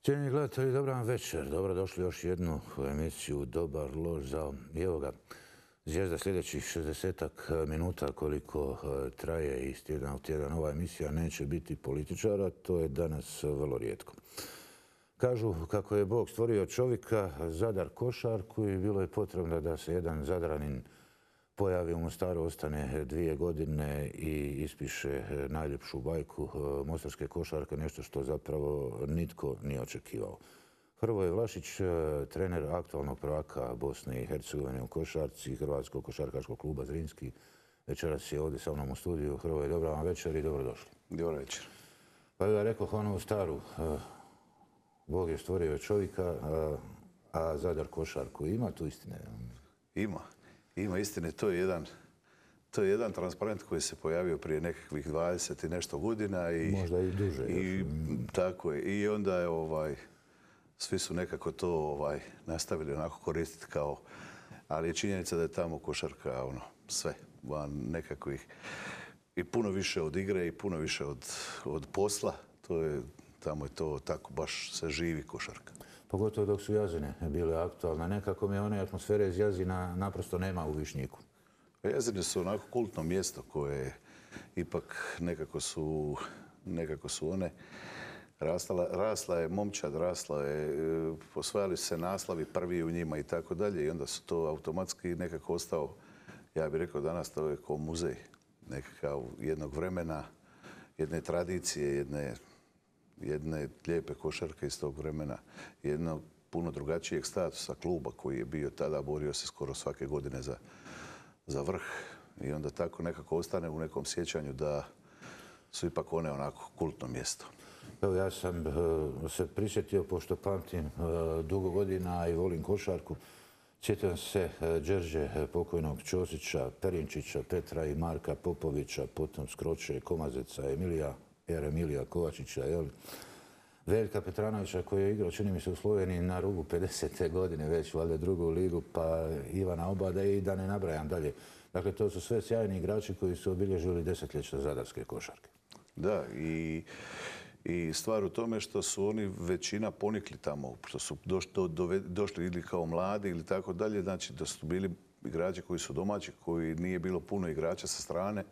Cijenjeni gledatelji, dobar vam večer. Dobrodošli još jednu emisiju Dobar, loš, zao. I evo ga, zvijezda sljedećih 60 minuta koliko traje iz tjedna u tjedan ova emisija neće biti političara, to je danas vrlo rijetko. Kažu kako je Bog stvorio čovjeka, Zadar košarku i bilo je potrebno da se jedan Zadranin pojavi u Mostaru, ostane 2 godine i ispiše najljepšu bajku mostarske košarke, nešto što zapravo nitko nije očekivao. Hrvoje Vlašić, trener aktualnog prvaka Bosne i Hercegovine u košarci, Hrvatskog košarkaškog kluba Zrinski. Večeras je ovdje sa mnom u studiju. Hrvoje, dobra vam večer i dobrodošli. Dobar večer. Pa ja rekao onu staru, Bog je stvorio čovjeka, a Zadar košarku. Ima tu istine? Ima istine. To je jedan transparent koji se pojavio prije nekakvih 20 i nešto godina. Možda i duže. Tako je. I onda je svi su nekako to nastavili onako koristiti kao, ali je činjenica da je tamo košarka sve van nekakvih i puno više od igre i puno više od posla. Tamo je to tako, baš se živi košarka. Pogotovo dok su Jazine bile aktualne. Nekako mi one atmosfere iz Jazina naprosto nema u Višnjiku. Jazine su onako kultno mjesto koje ipak nekako su one rasla je momčad, osvajali su se naslovi prvi u njima i tako dalje i onda su to automatski nekako ostao, ja bih rekao danas to je kao muzej nekakav jednog vremena, jedne tradicije, jedne lijepe košarke iz tog vremena, jednog puno drugačijeg statusa kluba koji je bio tada, borio se skoro svake godine za vrh i onda tako nekako ostane u nekom sjećanju da su ipak one onako kultno mjesto. Evo, ja sam se prisjetio, pošto pamtim dugo godina i volim košarku, sjećam se Đerđe, pokojnog Ćosića, Perinčića, Petra i Marka Popovića, potom Skroče, Komazeca, Emilija Kovačića, Veljka Petranovića koji je igrao, čini mi se, u Sloveniji na rubu 50. godine, već valjda drugu ligu, pa Ivana Obada i da ne nabrajam dalje. Dakle, to su sve sjajni igrači koji su obilježili desetljeća zadarske košarke. Da, i stvar u tome što su oni većina ponikli tamo, što su došli ili kao mladi ili tako dalje, znači da su bili igrači koji su domaći, koji nije bilo puno igrača sa strane,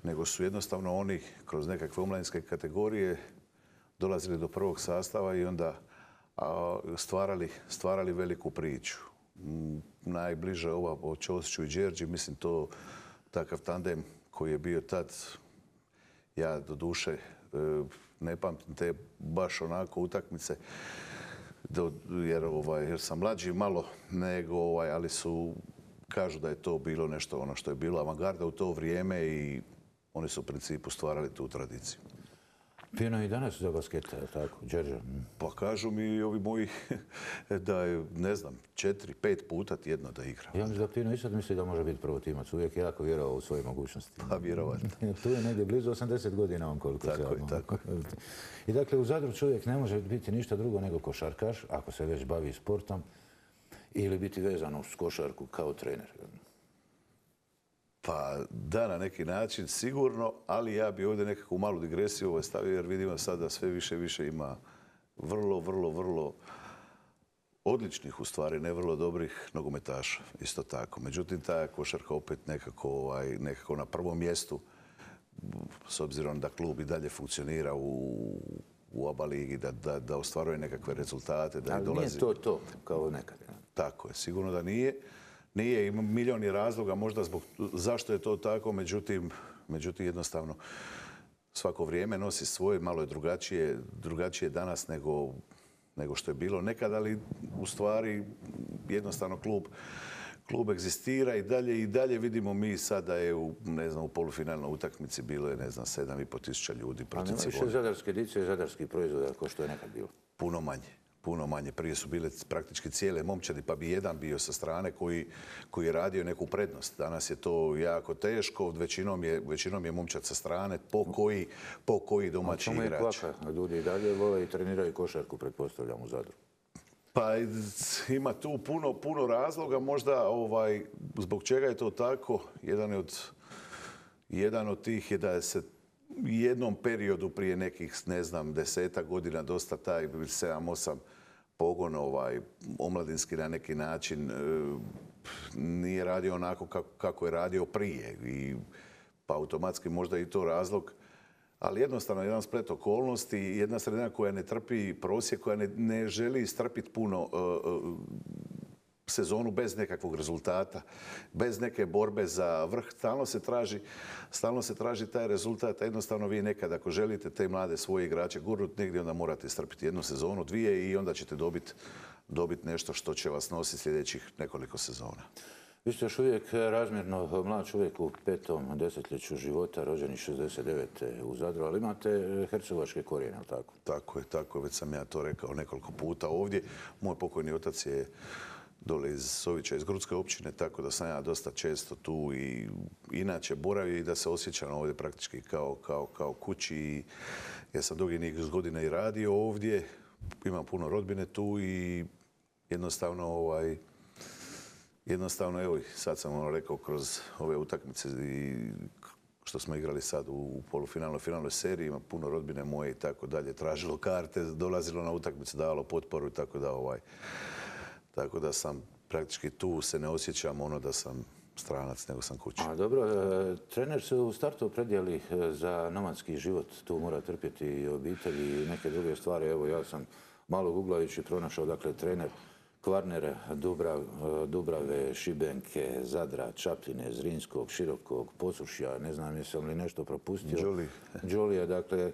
nego su jednostavno oni kroz nekakve omladinske kategorije dolazili do prvog sastava i onda stvarali veliku priču. Najbliže ova o Ćosiću i Đerđi, mislim takav tandem koji je bio tad, ja do duše ne pamtim te baš onako utakmice, jer sam mlađi malo nego, ali kažu da je to bilo nešto ono što je bilo avangarda u to vrijeme i oni su u principu stvarali tu tradiciju. Pino i danas za basketa, tako, Đerđa? Pa kažu mi ovi moji da je, ne znam, 4-5 puta tjedno da igra. Ja mislim da Pino i sad misli da može biti prvotimac. Uvijek je jako vjerovao u svoje mogućnosti. Pa vjerovatno. Tu je negdje blizu 80 godina on koliko se... Tako je. I dakle, u Zadru čovjek ne može biti ništa drugo nego košarkaš, ako se već bavi sportom, ili biti vezan uz košarku kao trener. Pa da, na neki način sigurno, ali ja bi ovdje nekakvu malu digresiju stavio jer vidimo sad da sve više ima vrlo odličnih, u stvari, ne vrlo dobrih nogometaša, isto tako. Međutim, ta košarka opet nekako na prvom mjestu, s obzirom da klub i dalje funkcionira u ABA ligi, da ostvaruje nekakve rezultate. Ali nije to kao nekad. Tako je, sigurno da nije. Nije, ima milijun razloga možda zašto je to tako, međutim jednostavno svako vrijeme nosi svoje, malo je drugačije danas nego što je bilo nekad, ali u stvari jednostavno klub egzistira i dalje vidimo mi sad da je u polufinalnoj utakmici bilo je 7,5 tisuća ljudi protiv Cibone. A nema više zadarske dice i zadarskih proizvoda kao što je nekad bilo? Puno manje. Prije su bile praktički cijele momčadi, pa bi jedan bio sa strane koji je radio neku prednost. Danas je to jako teško, većinom je momčad sa strane, po koji domaći igrač. Čemu je kvaka? Ljudi i dalje vole i treniraju košarku, pretpostavljam, u Zadru. Pa ima tu puno razloga, možda zbog čega je to tako. Jedan od tih je da se jednom periodu prije nekih, ne znam, 10 godina dosta taj 7-8 pogon omladinski na neki način nije radio onako kako je radio prije. Pa automatski možda i to razlog. Ali jednostavno jedan splet okolnosti, jedna sredina koja ne trpi prosjek, koja ne želi strpiti puno sezonu bez nekakvog rezultata, bez neke borbe za vrh. Stalno se traži taj rezultat. Jednostavno vi nekad ako želite te mlade svoje igrače gurnuti negdje, onda morate strpiti jednu sezonu, dvije i onda ćete dobiti nešto što će vas nositi sljedećih nekoliko sezona. Vi ste još uvijek razmjerno mlad čovjek u 5. desetljeću života, rođeni 69. u Zadru, ali imate hercegovačke korijene, ali tako? Tako je. Već sam ja to rekao nekoliko puta ovdje. Moj pokojni otac je dole iz Sovića, iz Grudske općine, tako da sam ja dosta često tu i inače boravio i da se osjećam ovdje praktički kao kući. Ja sam dugi niz godina i radio ovdje, imam puno rodbine tu i jednostavno, evo, sad sam rekao kroz ove utakmice i što smo igrali sad u polufinalnoj, finalnoj seriji, ima puno rodbine moje i tako dalje, tražilo karte, dolazilo na utakmice, davalo potporu i tako da sam praktički tu, se ne osjećam da sam stranac, nego sam kući. A dobro, trener se u startu opredijeli za nomadski život, tu mora trpjeti i obitelj i neke druge stvari. Evo, ja sam malo googlajući pronašao, dakle, trener Kvarner, Dubrave, Šibenke, Zadra, Čapljine, Zrinskog, Širokog, Posušja, ne znam jesam li nešto propustio. Đolija, dakle,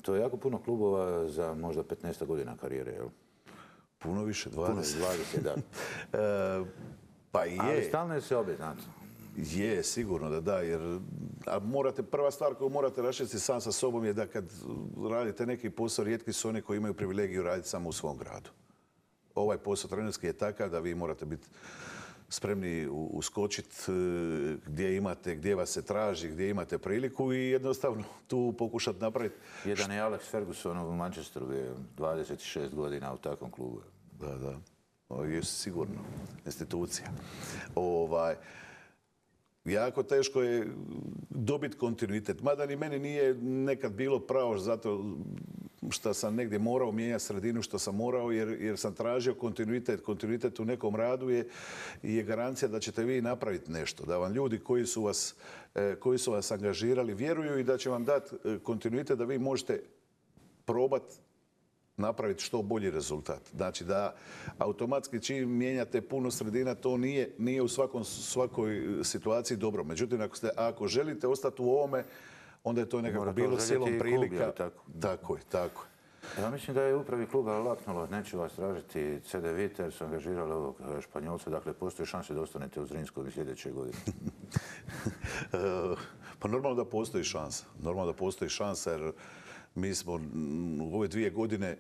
to je jako puno klubova za možda 15 godina karijere, jel? Puno više, 20. Puno 20, da. Pa je. Ali stalno se obje, znate. Je, sigurno da, jer prva stvar koju morate raščistiti sam sa sobom je da kad radite neki posao, rijetki su oni koji imaju privilegiju raditi samo u svom gradu. Ovaj posao trenerski je takav da vi morate biti spremni uskočiti gdje vas se traži, gdje imate priliku i jednostavno tu pokušati napraviti. Jedan je Alex Ferguson u Manchesteru, bio 26 godina u takvom klubu. Da. Je sigurno institucija. Jako teško je dobiti kontinuitet. Mada ni meni nije nekad bilo pravo zato što sam negdje morao mijenjati sredinu što sam morao jer sam tražio kontinuitet. Kontinuitet u nekom radu je garancija da ćete vi napraviti nešto. Da vam ljudi koji su vas angažirali vjeruju i da će vam dati kontinuitet da vi možete probati napraviti što bolji rezultat. Znači da automatski čim mijenjate puno sredina, to nije u svakoj situaciji dobro. Međutim, ako želite ostati u ovome, onda je to nekako bilo silom prilika. Tako je. Ja mislim da je upravi kluba laknulo, neću vas tražiti CD Vita jer su angažirali ovog Španjolca, dakle postoji šanse da ostanete u Zrinskog i sljedeće godine. Pa normalno da postoji šansa. Normalno da postoji šansa jer mi smo u ove 2 godine,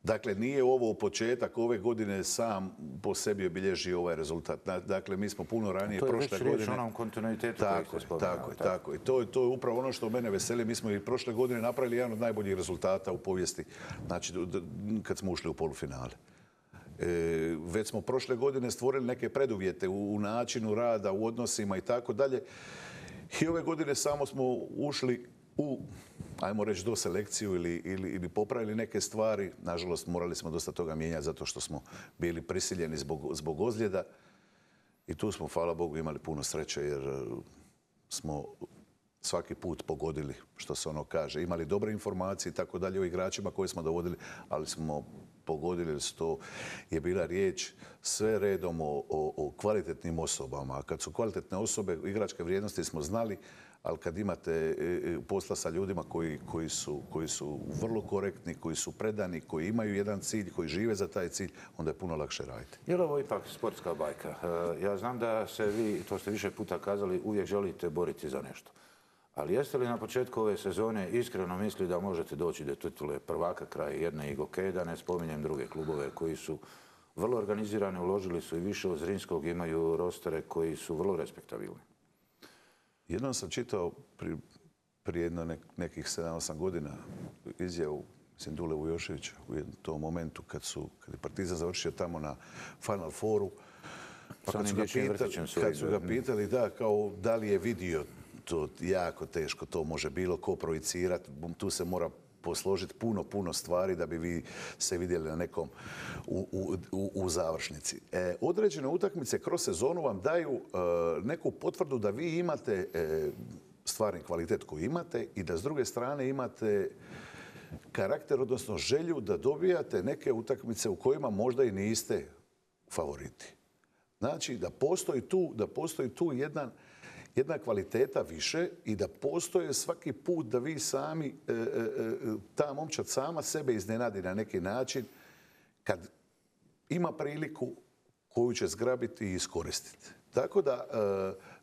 dakle nije ovo početak ove godine sam po sebi obilježio ovaj rezultat. Dakle, mi smo puno ranije prošle godine. To je već riječ o onom kontinuitetu koji ste spomenuli. Tako je. To je upravo ono što mene veseli. Mi smo i prošle godine napravili jedan od najboljih rezultata u povijesti, znači kad smo ušli u polufinale. Već smo prošle godine stvorili neke preduvjete u načinu rada, u odnosima i tako dalje. I ove godine samo smo ušli u, ajmo reći, do selekciju ili popravili neke stvari. Nažalost, morali smo dosta toga mijenjati zato što smo bili prisiljeni zbog ozljeda. I tu smo, hvala Bogu, imali puno sreće jer smo svaki put pogodili, što se ono kaže. Imali dobre informacije i tako dalje o igračima koje smo dovodili, ali smo pogodili jer to je bila riječ sve redom o kvalitetnim osobama. A kad su kvalitetne osobe, igračke vrijednosti smo znali, ali kad imate posla sa ljudima koji su vrlo korektni, koji su predani, koji imaju jedan cilj, koji žive za taj cilj, onda je puno lakše raditi. Je li ovo ipak sportska bajka? Ja znam da se vi, to ste više puta kazali, uvijek želite boriti za nešto. Ali jeste li na početku ove sezone iskreno mislili da možete doći do titule prvaka kraj jedne Igoke, da ne spominjem druge klubove koji su vrlo organizirani, uložili su i više od Zrinskog, imaju rostere koji su vrlo respektabilni? Jednom sam čitao prije nekih 7-8 godina izjavu Dule Vujoševića u tom momentu kad je Partizan završio tamo na Final Fouru. Pa kad su ga pitali da li je vidio to jako teško, to može bilo ko projicirati, tu se mora posložiti puno stvari da bi vi se vidjeli na nekom u završnici. Određene utakmice kroz sezonu vam daju neku potvrdu da vi imate stvarni kvalitet koji imate i da s druge strane imate karakter, odnosno želju da dobijate neke utakmice u kojima možda i niste favoriti. Znači da postoji tu jedna kvaliteta više i da postoje svaki put da vi sami, ta momčad sama sebe iznenadi na neki način kad ima priliku koju će zgrabiti i iskoristiti. Tako da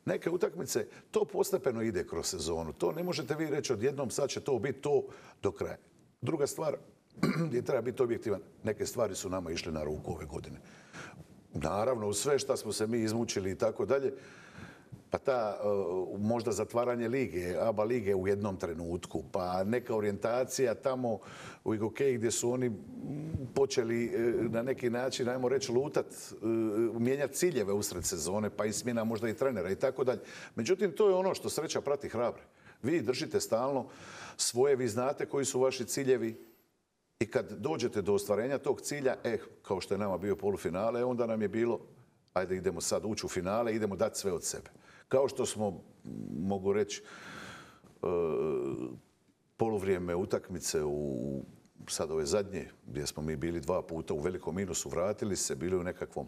neke utakmice, to postepeno ide kroz sezonu. To ne možete vi reći odjednom sad će to biti to do kraja. Druga stvar, gdje treba biti objektivan, neke stvari su nama išle na ruku ove godine. Naravno, uz sve što smo se mi izmučili i tako dalje, pa ta možda zatvaranje lige, ABA lige u jednom trenutku, pa neka orijentacija tamo u Igokeji gdje su oni počeli na neki način, ajmo reći, lutat, mijenjati ciljeve usred sezone, pa i smjena možda i trenera i tako dalje. Međutim, to je ono što sreća prati hrabre. Vi držite stalno svoje, vi znate koji su vaši ciljevi i kad dođete do ostvarenja tog cilja, kao što je nama bio polufinale, onda nam je bilo, ajde idemo sad ući u finale, idemo dati sve od sebe. Kao što smo, mogu reći, poluvrijeme utakmice u sad ove zadnje, gdje smo mi bili 2 puta u velikom minusu, vratili se, bili u nekakvom,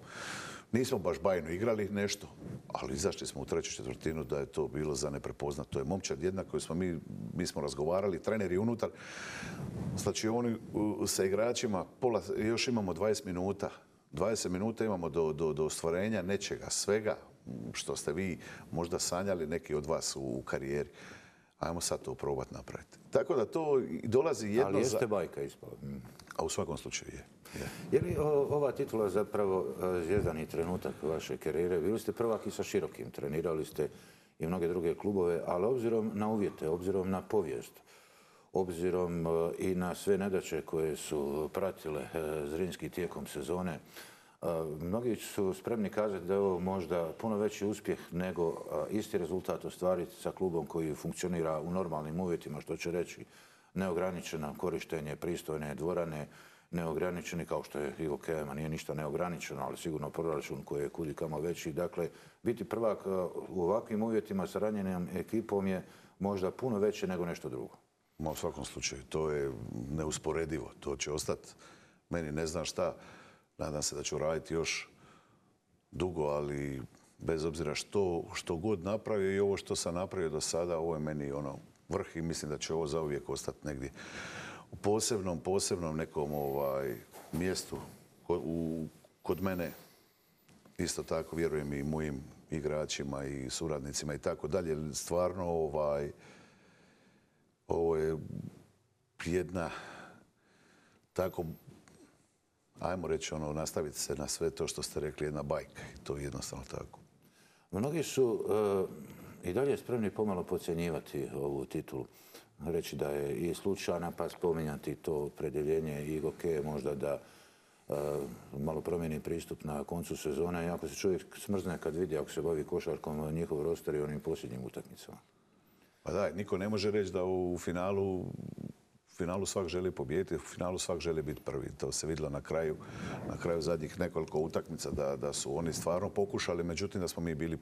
nismo baš bajno igrali nešto, ali izašli smo u treću četvrtinu da je to bilo za neprepoznat. To je momčad jedna koju smo mi smo razgovarali, treneri unutar, znači oni sa igračima, još imamo 20 minuta. 20 minuta imamo do ostvarenja nečega, svega što ste vi možda sanjali neki od vas u karijeri. Ajmo sad to probati napraviti. Tako da to dolazi jedno... Ali jeste bajka ispala. A u svakom slučaju je. Je li ova titula zapravo zvijezdani trenutak vaše karijere? Bili ste prvak i sa Širokim, trenirali ste i mnoge druge klubove, ali obzirom na uvjete, obzirom na povijest, obzirom i na sve nedaće koje su pratile Zrinski tijekom sezone, mnogi su spremni kazati da je ovo možda puno veći uspjeh nego isti rezultat ostvariti sa klubom koji funkcionira u normalnim uvjetima, što će reći neograničeno korištenje pristojne dvorane, neograničeni kao što je Igokejama, nije ništa neograničeno, ali sigurno proračun koji je kudikamo veći. Dakle, biti prvak u ovakvim uvjetima sa ranjenom ekipom je možda puno veće nego nešto drugo. U svakom slučaju, to je neusporedivo. To će ostati meni ne znam šta. Nadam se da ću raditi još dugo, ali bez obzira što god napravio i ovo što sam napravio do sada, ovo je meni vrh i mislim da će ovo zauvijek ostati negdje u posebnom nekom mjestu kod mene. Isto tako vjerujem i mojim igračima i suradnicima i tako dalje. Stvarno ovo je jedna tako, ajmo reći, nastaviti se na sve to što ste rekli, jedna bajka. I to je jednostavno tako. Mnogi su i dalje spremni pomalo podcjenjivati ovu titulu. Reći da je i slučajna, pa spominjati to opredjeljenje Igokeje, možda da malo promijeni pristup na koncu sezone. Iako se čovjek smrzne kad vidi, ako se bavi košarkom, njihov roster i onim posljednjim utakmicama. Pa da, niko ne može reći da u finalu svak želi pobijediti, u finalu svak želi biti prvi. To se vidjelo na kraju zadnjih nekoliko utakmica da su oni stvarno pokušali, međutim da smo mi bili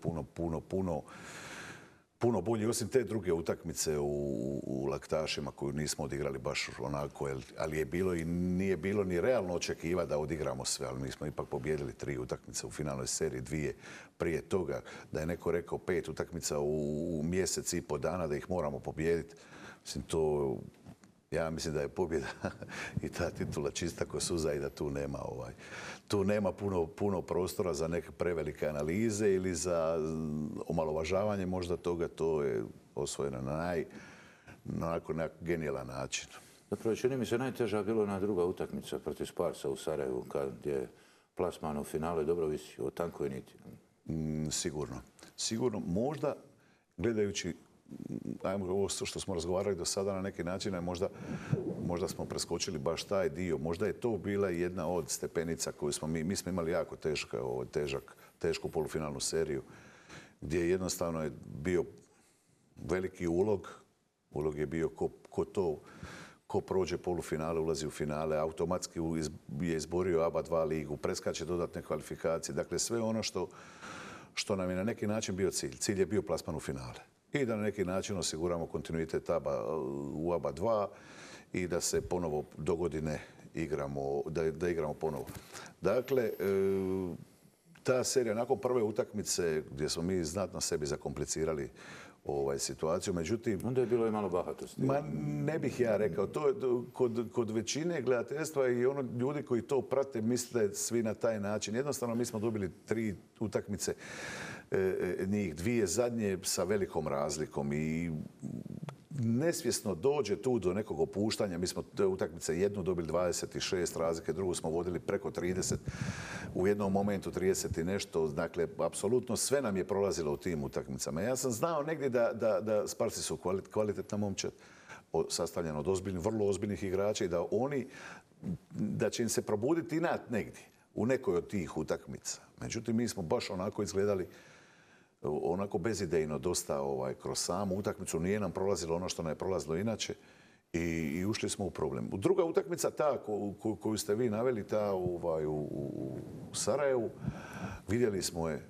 puno bolji, osim te druge utakmice u Laktašima koju nismo odigrali baš onako, ali je bilo i nije bilo ni realno očekivati da odigramo sve, ali mi smo ipak pobijedili 3 utakmice u finalnoj seriji, 2 prije toga, da je neko rekao 5 utakmica u mjesec i po dana da ih moramo pobijediti. Mislim, ja mislim da je pobjeda i ta titula čista ko suza i da tu nema puno prostora za neke prevelike analize ili za omalovažavanje možda toga. To je osvojeno na genijalan način. Zapravo, čini mi se najteža bilo na druga utakmica protiv Sparsa u Sarajevu, kad je plasman u finale dobro visio o tankoj niti. Sigurno. Možda, gledajući ovo što smo razgovarali do sada na neki način, možda smo preskočili baš taj dio. Možda je to bila jedna od stepenica koju mi smo imali jako tešku polufinalnu seriju, gdje jednostavno je bio veliki ulog. Ulog je bio ko prođe polufinale, ulazi u finale, automatski je izborio ABA 2 ligu, preskače dodatne kvalifikacije. Dakle, sve ono što nam je na neki način bio cilj. Cilj je bio plasman u finale. I da na neki način osiguramo kontinuitet u ABA 2 i da se ponovo dogodine igramo, da igramo ponovo. Dakle, ta serija nakon prve utakmice gdje smo mi znatno sebi zakomplicirali situaciju, međutim... Onda je bilo i malo bahatosti. Ma ne bih ja rekao. To je kod većine gledateljstva i ljudi koji to prate misle svi na taj način. Jednostavno mi smo dobili 3 utakmice, njih 2 zadnje sa velikom razlikom i nesvjesno dođe tu do nekog opuštanja. Mi smo te utakmice jednu dobili 26 razlike, drugu smo vodili preko 30, u jednom momentu 30 i nešto. Dakle, apsolutno sve nam je prolazilo u tim utakmicama. Ja sam znao negdje da Sparci su kvalitetna momčad, sastavljena od vrlo ozbiljnih igrača i da će im se probuditi inat negdje u nekoj od tih utakmica. Međutim, mi smo baš onako izgledali onako bezidejno dosta kroz samu utakmicu. Nije nam prolazilo ono što nam je prolazilo inače i ušli smo u problem. Druga utakmica, ta koju ste vi naveli, ta u Sarajevu, vidjeli smo je,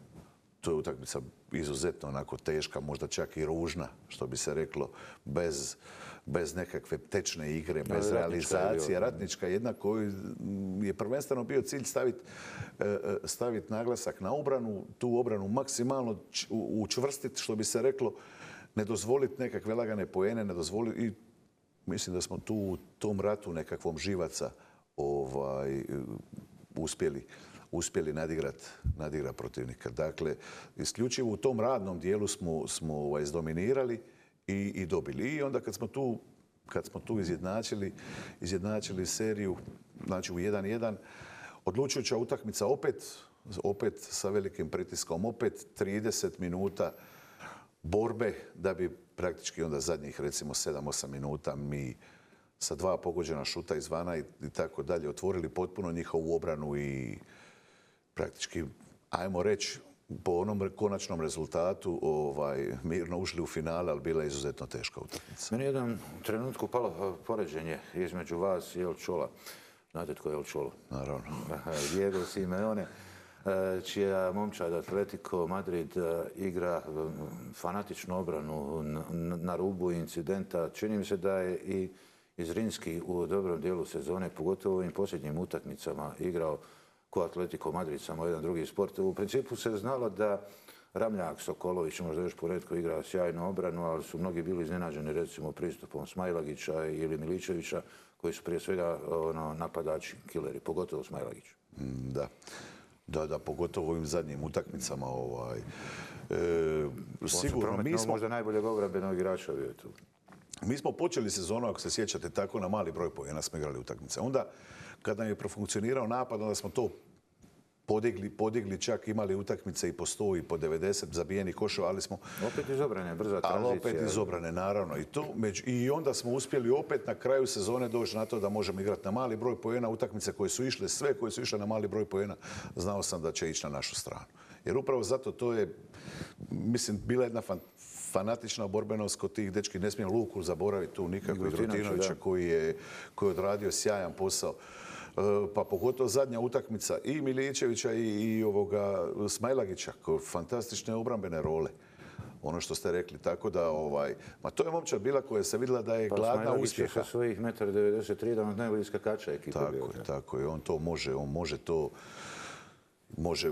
to je utakmica izuzetno onako teška, možda čak i ružna, što bi se reklo, bez nekakve tečne igre, bez realizacije. Ratnička jedna koju je prvenstveno bio cilj staviti naglasak na obranu, tu obranu maksimalno učvrstiti, što bi se reklo, ne dozvoliti nekakve lagane poene, ne dozvoliti i mislim da smo tu u tom ratu nekakvom živaca uspjeli nadigrat protivnika. Dakle, isključivo u tom radnom dijelu smo izdominirali i dobili. I onda kad smo tu izjednačili seriju, znači u 1-1, odlučujuća utakmica opet sa velikim pritiskom, opet 30 minuta borbe da bi praktički onda zadnjih recimo 7-8 minuta mi sa 2 pogođena šuta izvana i tako dalje otvorili potpuno njihovu obranu i praktički, ajmo reći, po onom konačnom rezultatu mirno ušli u finale, ali bila je izuzetno teška utakmica. Meni je jedan trenutku palo poređenje između vas i El Chola. Znate tko je El Cholo? Naravno. Diego Simeone, čija momčad Atletico Madrid igra fanatičnu obranu na rubu incidenta. Čini mi se da je i Zrinski u dobrom dijelu sezone, pogotovo u ovim posljednjim utakmicama, igrao ko Atletico Madrid, samo jedan drugi sport. U principu se znalo da Ramljak, Sokolović, možda još poredko igra sjajnu obranu, ali su mnogi bili iznenađeni recimo pristupom Smajlagića ili Miličevića, koji su prije svega napadači, kileri, pogotovo Smajlagić. Da, pogotovo u ovim zadnjim utakmicama. Sigurno, mi smo možda najboljeg obrambenog igrača bio tu. Mi smo počeli sezonu, ako se sjećate, tako na mali broj poena smo igrali utakmice. Onda, kada nam je profunkcionirao napad, onda smo to podigli, čak imali utakmice i po 100 i po 90 zabijenih koševa, ali smo... Opet iz obrane, brza tranzicija. Ali opet iz obrane, naravno. I onda smo uspjeli opet na kraju sezone doći na to da možemo igrati na mali broj poena. Utakmice koje su išle, sve koje su išle na mali broj poena, znao sam da će ići na našu stranu. Jer upravo zato to je, mislim, bila jedna fanatična borbenost kod tih dečki. Ne smijem Luku zaboraviti tu nikako, i Grutinovića koji je odradio sjajan posao. Pa pogotovo zadnja utakmica i Miličevića i Smajlagića, fantastične obrambene role. Ono što ste rekli, tako da, ma to je momčad bila koja se vidjela da je gladna uspjeha. Sa svojih 1,93 m, jedan od najboljih skakača ekipa. Tako je, on to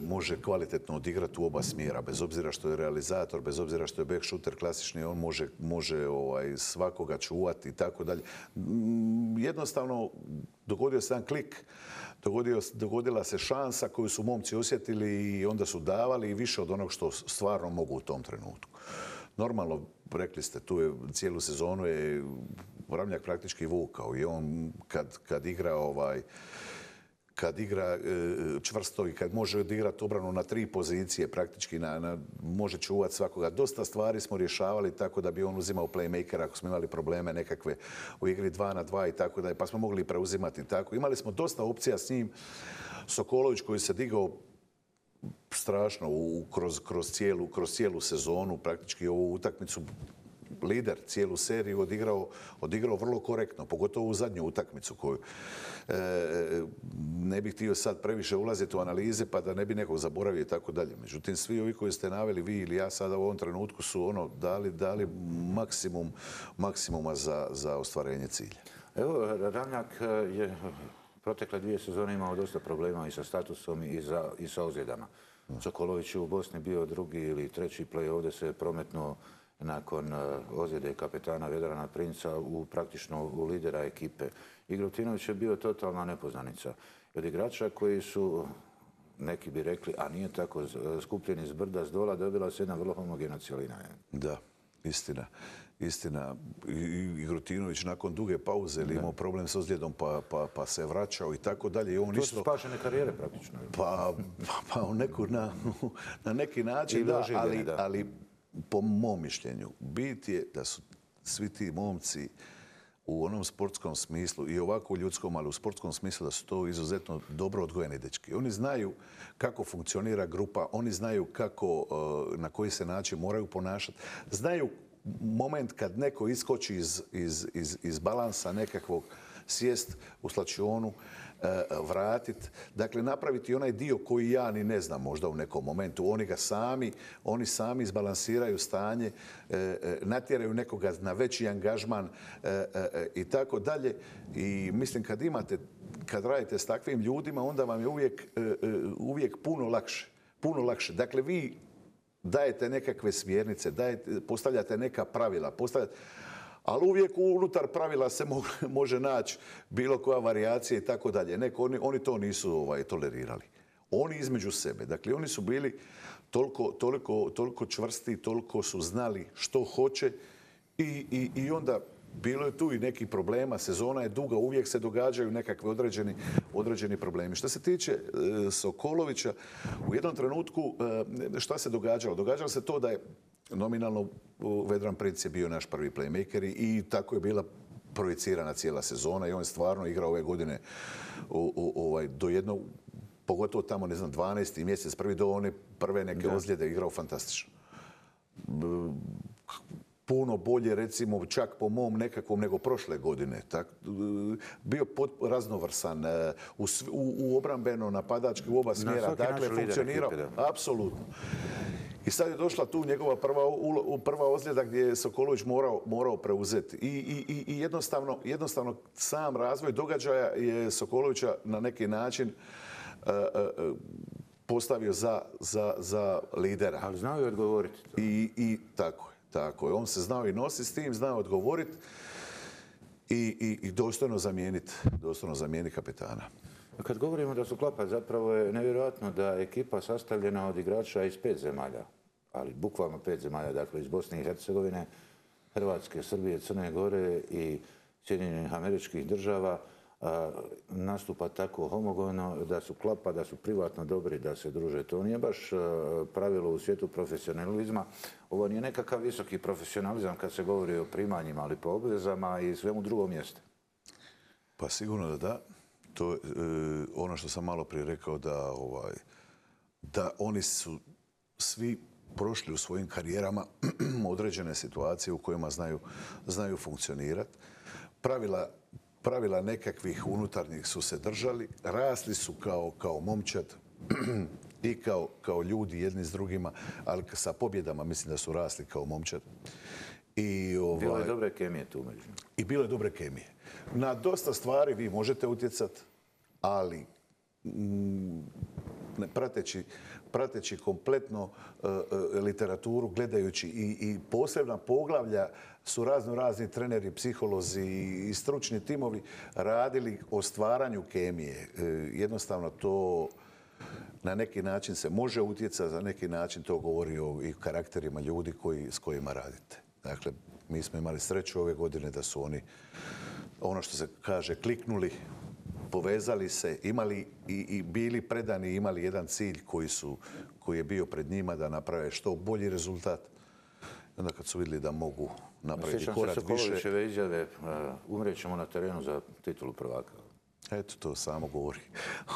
može kvalitetno odigrati u oba smjera, bez obzira što je realizator, bez obzira što je back shooter klasični, on može svakoga čuvati i tako dalje. Jednostavno, dogodio se jedan klik, dogodila se šansa koju su momci osjetili i onda su davali i više od onog što stvarno mogu u tom trenutku. Normalno, rekli ste, tu je cijelu sezonu je Ramljak praktički vukao i on kad igra čvrsto i kad može odigrati obranu na 3 pozicije, praktički može čuvati svakoga. Dosta stvari smo rješavali tako da bi on uzimao playmakera ako smo imali probleme nekakve u igri 2 na 2 i tako da, pa smo mogli preuzimati tako. Imali smo dosta opcija s njim. Sokolović koji se digao strašno kroz cijelu sezonu, praktički ovu utakmicu lider cijelu seriju odigrao vrlo korektno, pogotovo u zadnju utakmicu koju ne bih htio sad previše ulaziti u analize pa da ne bi nekog zaboravio i tako dalje. Međutim, svi ovi koji ste naveli, vi ili ja sada u ovom trenutku su dali maksimuma za ostvarenje cilja. Evo, Ramljak je protekle 2 sezone imao dosta problema i sa statusom i sa ozljedama. Sokolović je u Bosni bio 2. ili 3. play, ovdje se prometnuo nakon ozljede kapetana Vedrana Princa praktično u lidera ekipe. I Grutinović je bio totalna nepoznanica. Od igrača koji su, neki bi rekli, a nije tako, skupljeni s brda s dola, dobila se jedna vrlo homogena cjelina. Da, istina. I Grutinović nakon duge pauze imao problem s ozljedom pa se vraćao i tako dalje. To su spašene karijere praktično. Pa na neki način da, ali po mom mišljenju bit je da su svi ti momci u onom sportskom smislu i ovako u ljudskom, ali u sportskom smislu da su to izuzetno dobro odgojeni dečki. Oni znaju kako funkcionira grupa, oni znaju na koji se način moraju ponašati, znaju moment kad neko iskoči iz balansa nekakvog, sjest u slačionu, vratit, dakle napraviti onaj dio koji ja ni ne znam možda u nekom momentu. Oni sami izbalansiraju stanje, natjeraju nekoga na veći angažman i tako dalje. I mislim kad radite s takvim ljudima, onda vam je uvijek puno lakše. Dakle, vi dajete nekakve smjernice, postavljate neka pravila, ali uvijek unutar pravila se može naći bilo koja varijacija i tako dalje. Oni to nisu tolerirali. Oni između sebe. Dakle, oni su bili toliko čvrsti, toliko su znali što hoće i onda bilo je tu i nekih problema. Sezona je duga, uvijek se događaju nekakve određeni problemi. Što se tiče Sokolovića, u jednom trenutku šta se događalo? Događalo se to da je nominalno Vedran Princ je bio naš prvi playmaker i tako je bila projicirana cijela sezona i on je stvarno igrao ove godine do jednog, pogotovo tamo, 12. mjesec, do one prve neke ozljede igrao fantastično. Puno bolje, recimo, čak po mom nekakvom nego prošle godine. Bio raznovrsan, u obrambeno, napadački, u oba smjera. Dakle, funkcionirao. Apsolutno. I sad je došla tu njegova prva ozljeda gdje je Sokolović morao preuzeti. I jednostavno sam razvoj događaja je Sokolovića na neki način postavio za lidera. Ali znao je odgovoriti. I tako je. On se znao i nositi s tim, znao odgovoriti i dostojno zamijeniti kapetana. Kad govorimo da su klapa, zapravo je nevjerojatno da je ekipa sastavljena od igrača iz 5 zemalja, ali bukvalno 5 zemalja, dakle iz Bosne i Hercegovine, Hrvatske, Srbije, Crne Gore i Sjedinjenih Američkih Država, nastupa tako homogeno da su klapa, da su privatno dobri, da se druže. To nije baš pravilo u svijetu profesionalizma. Ovo nije nekakav visoki profesionalizam kad se govori o primanjima, ali po obvezama i svemu drugom mjestu. Pa sigurno da da. To je ono što sam malo prije rekao da oni su svi prošli u svojim karijerama određene situacije u kojima znaju funkcionirati. Pravila nekakvih unutarnjih su se držali, rasli su kao momčad i kao ljudi jedni s drugima, ali sa pobjedama mislim da su rasli kao momčad. Bilo je dobre kemije tu među. I bilo je dobre kemije. Na dosta stvari vi možete utjecati, ali prateći kompletno literaturu, gledajući i posebna poglavlja su razni treneri, psiholozi i stručni timovi radili o stvaranju kemije. Jednostavno to na neki način se može utjecati, za neki način to govori o i karakterima ljudi s kojima radite. Dakle, mi smo imali sreću ove godine da su oni, ono što se kaže, kliknuli, povezali se, imali i bili predani, imali jedan cilj koji je bio pred njima da naprave što bolji rezultat. I onda kad su vidjeli da mogu napraviti korak više... Sjećam se Sokolovićeve izjave, umrećemo na terenu za titulu prvaka. Eto, to samo govori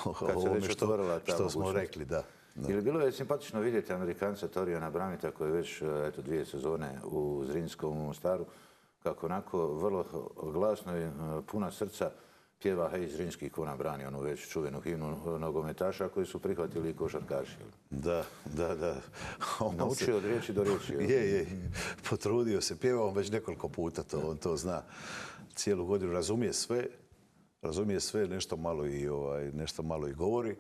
o ovome što smo rekli, da. Ili bilo je simpatično vidjeti Amerikanca Torijana Bramita koji je već 2 sezone u Zrinskom u Mostaru, kako onako vrlo glasno i puna srca pjeva Hej Zrinski ko nam brani, onu već čuvenu himnu nogometaša koji su prihvatili i košarkaši. Da. Naučio od riječi do riječi. Je. Potrudio se, pjevao on već nekoliko puta, on to zna. Cijelu godinu razumije sve, nešto malo i govori.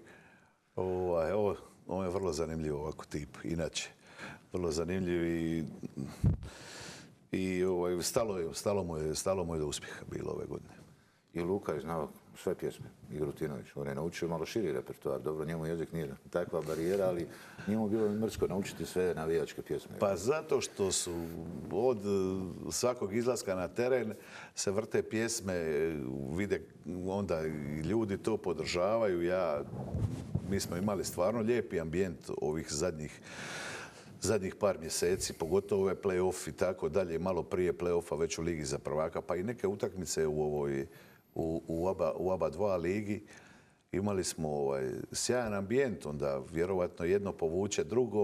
On je vrlo zanimljiv ovako tip, inače. Vrlo zanimljiv i stalo mu je do uspjeha bilo ove godine. I Luka je znao sve pjesme, i Grutinović. On je naučio malo širi repertoar. Dobro, njemu jezik nije takva barijera, ali nije mu bilo mrsko naučiti sve navijačke pjesme. Pa zato što su od svakog izlaska na teren se vrte pjesme, vide onda i ljudi to podržavaju. Mi smo imali stvarno lijepi ambijent ovih zadnjih par mjeseci, pogotovo ove play-off i tako dalje, malo prije play-offa već u Ligi za prvaka, pa i neke utakmice u oba dva ligi. Imali smo sjajan ambijent, onda vjerovatno jedno povuče drugo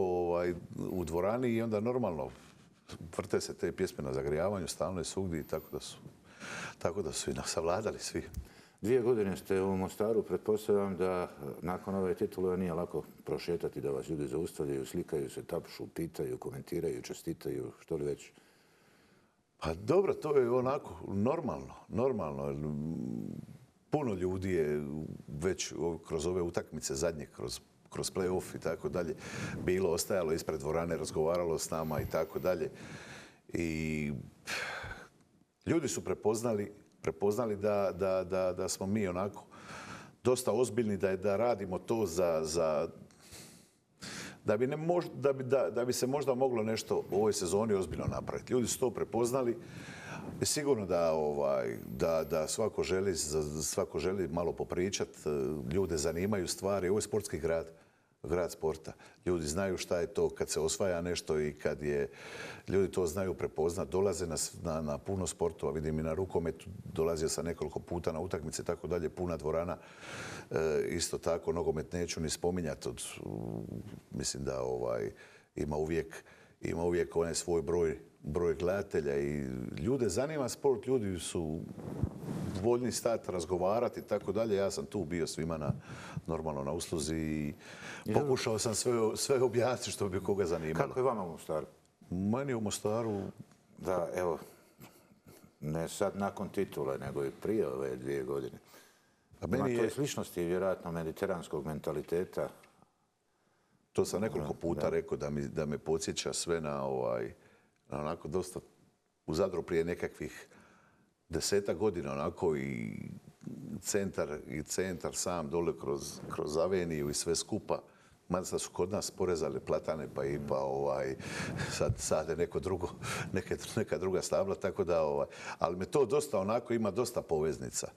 u dvorani i onda normalno vrte se te pjesme na zagrijavanju, stalno je svugdje, tako da su i nas savladali svi. 2 godine ste u Mostaru, pretpostavljam da nakon ove titule nije lako prošetati, da vas ljudi zaustavljaju, slikaju se, tapšu, pitaju, komentiraju, čestitaju, što li već? Pa dobro, to je onako normalno. Puno ljudi je već kroz ove utakmice zadnje, kroz play-off i tako dalje, bilo, ostajalo ispred dvorane, razgovaralo s nama i tako dalje. I ljudi su prepoznali da smo mi onako dosta ozbiljni, da radimo to da bi se možda moglo nešto u ovoj sezoni ozbiljno napraviti. Ljudi su to prepoznali. Sigurno da svako želi malo popričati. Ljude zanimaju stvari. Ovo je sportski grad sporta. Ljudi znaju šta je to kad se osvaja nešto i kad ljudi to znaju prepoznat. Dolaze na puno sportova. Vidim i na rukometu. Dolazio sam nekoliko puta na utakmice, tako dalje. Puna dvorana. Isto tako, nogomet neću ni spominjati. Mislim da ima uvijek onaj svoj broj gledatelja i ljude zanima sport, ljudi su voljni stati, razgovarati i tako dalje. Ja sam tu bio svima normalno na usluzi i pokušao sam sve objasniti što bi koga zanimalo. Kako je vama u Mostaru? Meni u Mostaru... Da, evo, ne sad nakon titule, nego i prije ove 2 godine. Ima to je sličnosti vjerojatno mediteranskog mentaliteta. To sam nekoliko puta rekao da me podsjeća sve na onako dosta u Zadru prije nekakvih 10-ak godina onako i centar sam dole kroz aveniju i sve skupa. Mada su kod nas porezali platane sad je neka druga stabla, tako da ali me to dosta onako ima dosta poveznica.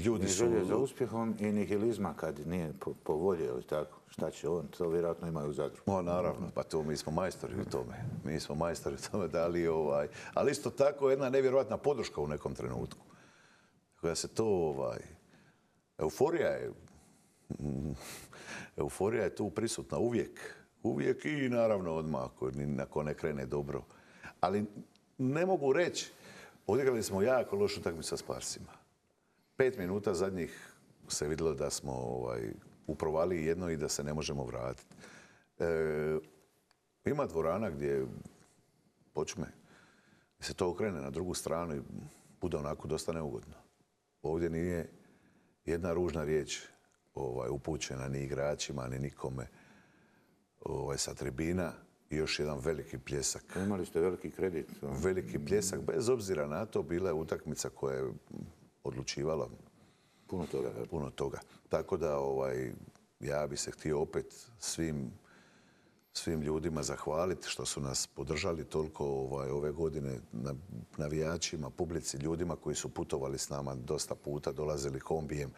Ljudi su... želje za uspjehom i nihilizma kad nije po volji, ili tako? Šta će on? To vjerojatno imaju u Zadru. Naravno, pa to mi smo majstori u tome. Ali isto tako jedna nevjerojatna podrška u nekom trenutku. Koja se to... Euforija je tu prisutna uvijek i naravno odmah ako ne krene dobro. Ali ne mogu reći, odigrali smo jako lošu utakmicu sa Sparsima. 5 minuta zadnjih se vidjelo da smo u provaliji jedno i da se ne možemo vratiti. Ima dvorana gdje počne, se to okrene na drugu stranu i bude onako dosta neugodno. Ovdje nije jedna ružna riječ upućena ni igračima, ni nikome sa tribina. I još jedan veliki pljesak. Imali ste veliki kredit. Veliki pljesak, bez obzira na to, bila je utakmica koja je odlučivala puno toga. Tako da ja bi se htio opet svim ljudima zahvaliti što su nas podržali toliko ove godine, navijačima, publici, ljudima koji su putovali s nama dosta puta, dolazili kombijem,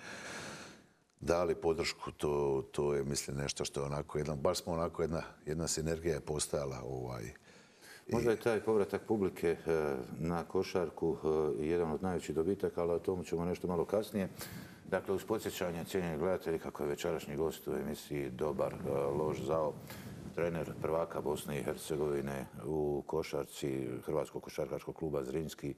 dali podršku. To je, mislim, nešto što je onako baš smo onako jedna sinergija je postojala. Možda je taj povratak publike na košarku jedan od najvećih dobitaka, ali o tomu ćemo nešto malo kasnije. Dakle, uz podsjećanje cijenjeni gledatelji kako je večerašnji gost u emisiji Dobar, loš, zao, trener prvaka Bosne i Hercegovine u košarci Hrvatskog košarkaškog kluba Zrinski,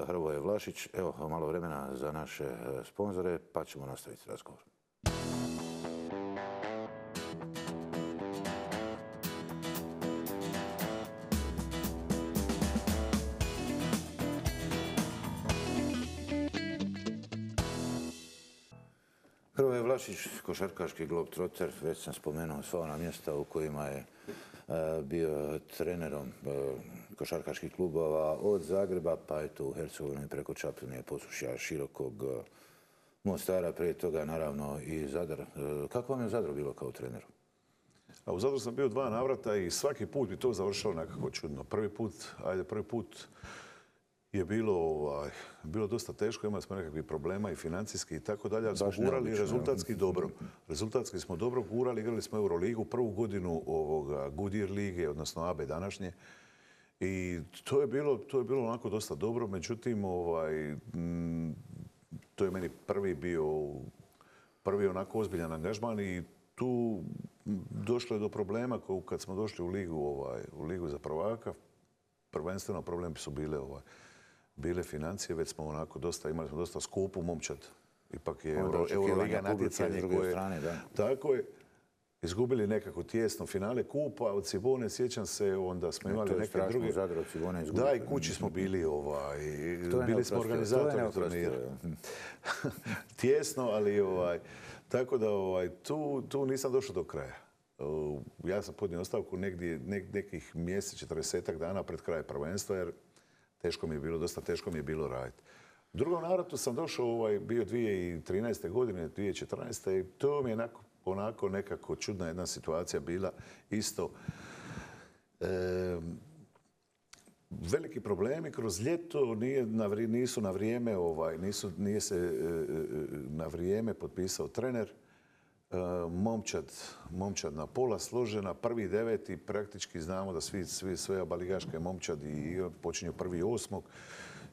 Hrvoje Vlašić. Evo, malo vremena za naše sponzore, pa ćemo nastaviti razgovor. Hrvoje Vlašić, košarkaški globetrotter, već sam spomenuo sva ona mjesta u kojima je bio trenerom košarkaških klubova od Zagreba, pa eto u Hercegovini preko Čapljine, Posušja, Širokog, Mostara, prije toga naravno i Zadar. Kako vam je u Zadru bilo kao treneru? A u Zadru sam bio 2 navrata i svaki put bi to završao nekako čudno. Prvi put je bilo dosta teško, imali smo nekakvih problema i financijski i tako dalje, ali smo gurali rezultatski dobro. Rezultatski smo dobro gurali, igrali smo Euroligu, prvu godinu Goodyear lige, odnosno AB današnje. I to je bilo onako dosta dobro, međutim, to je meni prvi onako ozbiljan angažman i tu došlo je do problema kad smo došli u ligu za prvaka. Prvenstveno problemi su bile financije, već smo imali smo dosta skupu momčad. Ipak je Euroliga natjecanje koje... Tako je. Izgubili nekako tijesno finale kupa od Cibone, sjećam se, onda smo imali neke druge... Da, i kući smo bili, bili smo organizatori turnira. Tijesno, ali tako da tu nisam došao do kraja. Ja sam podnio ostavku nekih mjesec, 40 dana pred kraj prvenstva, jer dosta teško mi je bilo raditi. U drugom navratu sam došao, bio 2013. godine, 2014. i to mi je onako nekako čudna jedna situacija bila isto. Veliki problemi kroz ljeto, nisu na vrijeme, nije se na vrijeme potpisao trener. Momčad na pola složena, 1.9. praktički znamo da sve abaligaške momčadi počinju 1.8.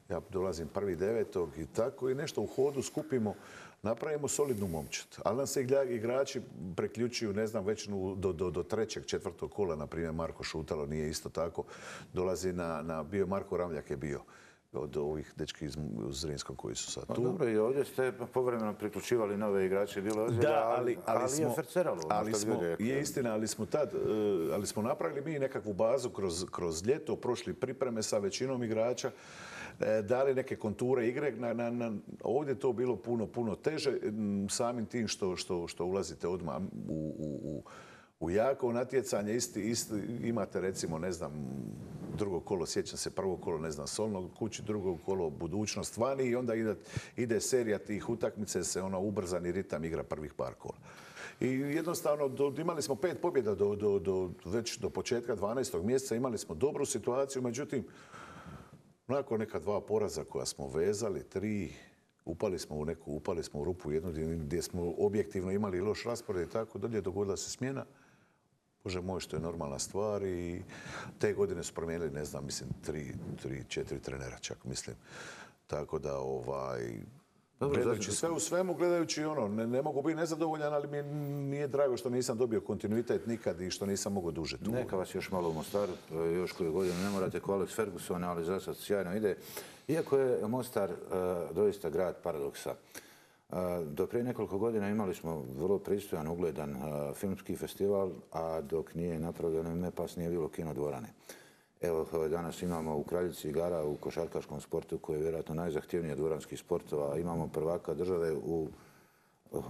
Ja dolazim 1.9. i tako i nešto u hodu skupimo, napravimo solidnu momčad. Ali nam se igrači preključuju, ne znam, već do 3., 4. kola, na primjer Marko Šutalo nije isto tako, dolazi bio Marko Ramljak je bio od ovih dečki iz Zrinskog koji su sad tu. Dobro, i ovdje ste povremeno priključivali nove igrače, bilo ozljeda, ali je ferceralo. Je istina, ali smo napravili mi nekakvu bazu kroz ljeto, prošli pripreme sa većinom igrača, dali neke konture igre. Ovdje je to bilo puno teže, samim tim što ulazite odmah u jako natjecanje. Imate recimo, ne znam, drugo kolo, sjećam se, prvo kolo, ne znam, Solnog kući, drugo kolo budućnost vani i onda ide serija tih utakmice, se ubrzani ritam igra prvih par kola. I jednostavno imali smo 5 pobjeda već do početka 12. mjeseca, imali smo dobru situaciju, međutim, nakon neka 2 poraza koja smo vezali, 3, upali smo u rupu jednu gdje smo objektivno imali loš raspored i tako dalje, dogodila se smjena. Bože moj, što je normalna stvar i te godine su promijenili, ne znam, mislim, 3-4 trenera čak, mislim. Tako da, gledajući sve u svemu, gledajući ne mogu biti nezadovoljan, ali mi nije drago što nisam dobio kontinuitet nikad i što nisam mogao duže tu. Neka vas još malo u Mostaru, još koju godinu ne morate ko Alex Ferguson, ali za sad sjajno ide. Iako je Mostar doista grad paradoksa. Do prije nekoliko godina imali smo vrlo pristojan, ugledan filmski festival, a dok nije napravljeno ime pas nije bilo kinodvorane. Evo, danas imamo u Kraljici igara u košarkaškom sportu, koji je vjerojatno najzahtjevniji od dvoranskih sportova. Imamo prvaka države u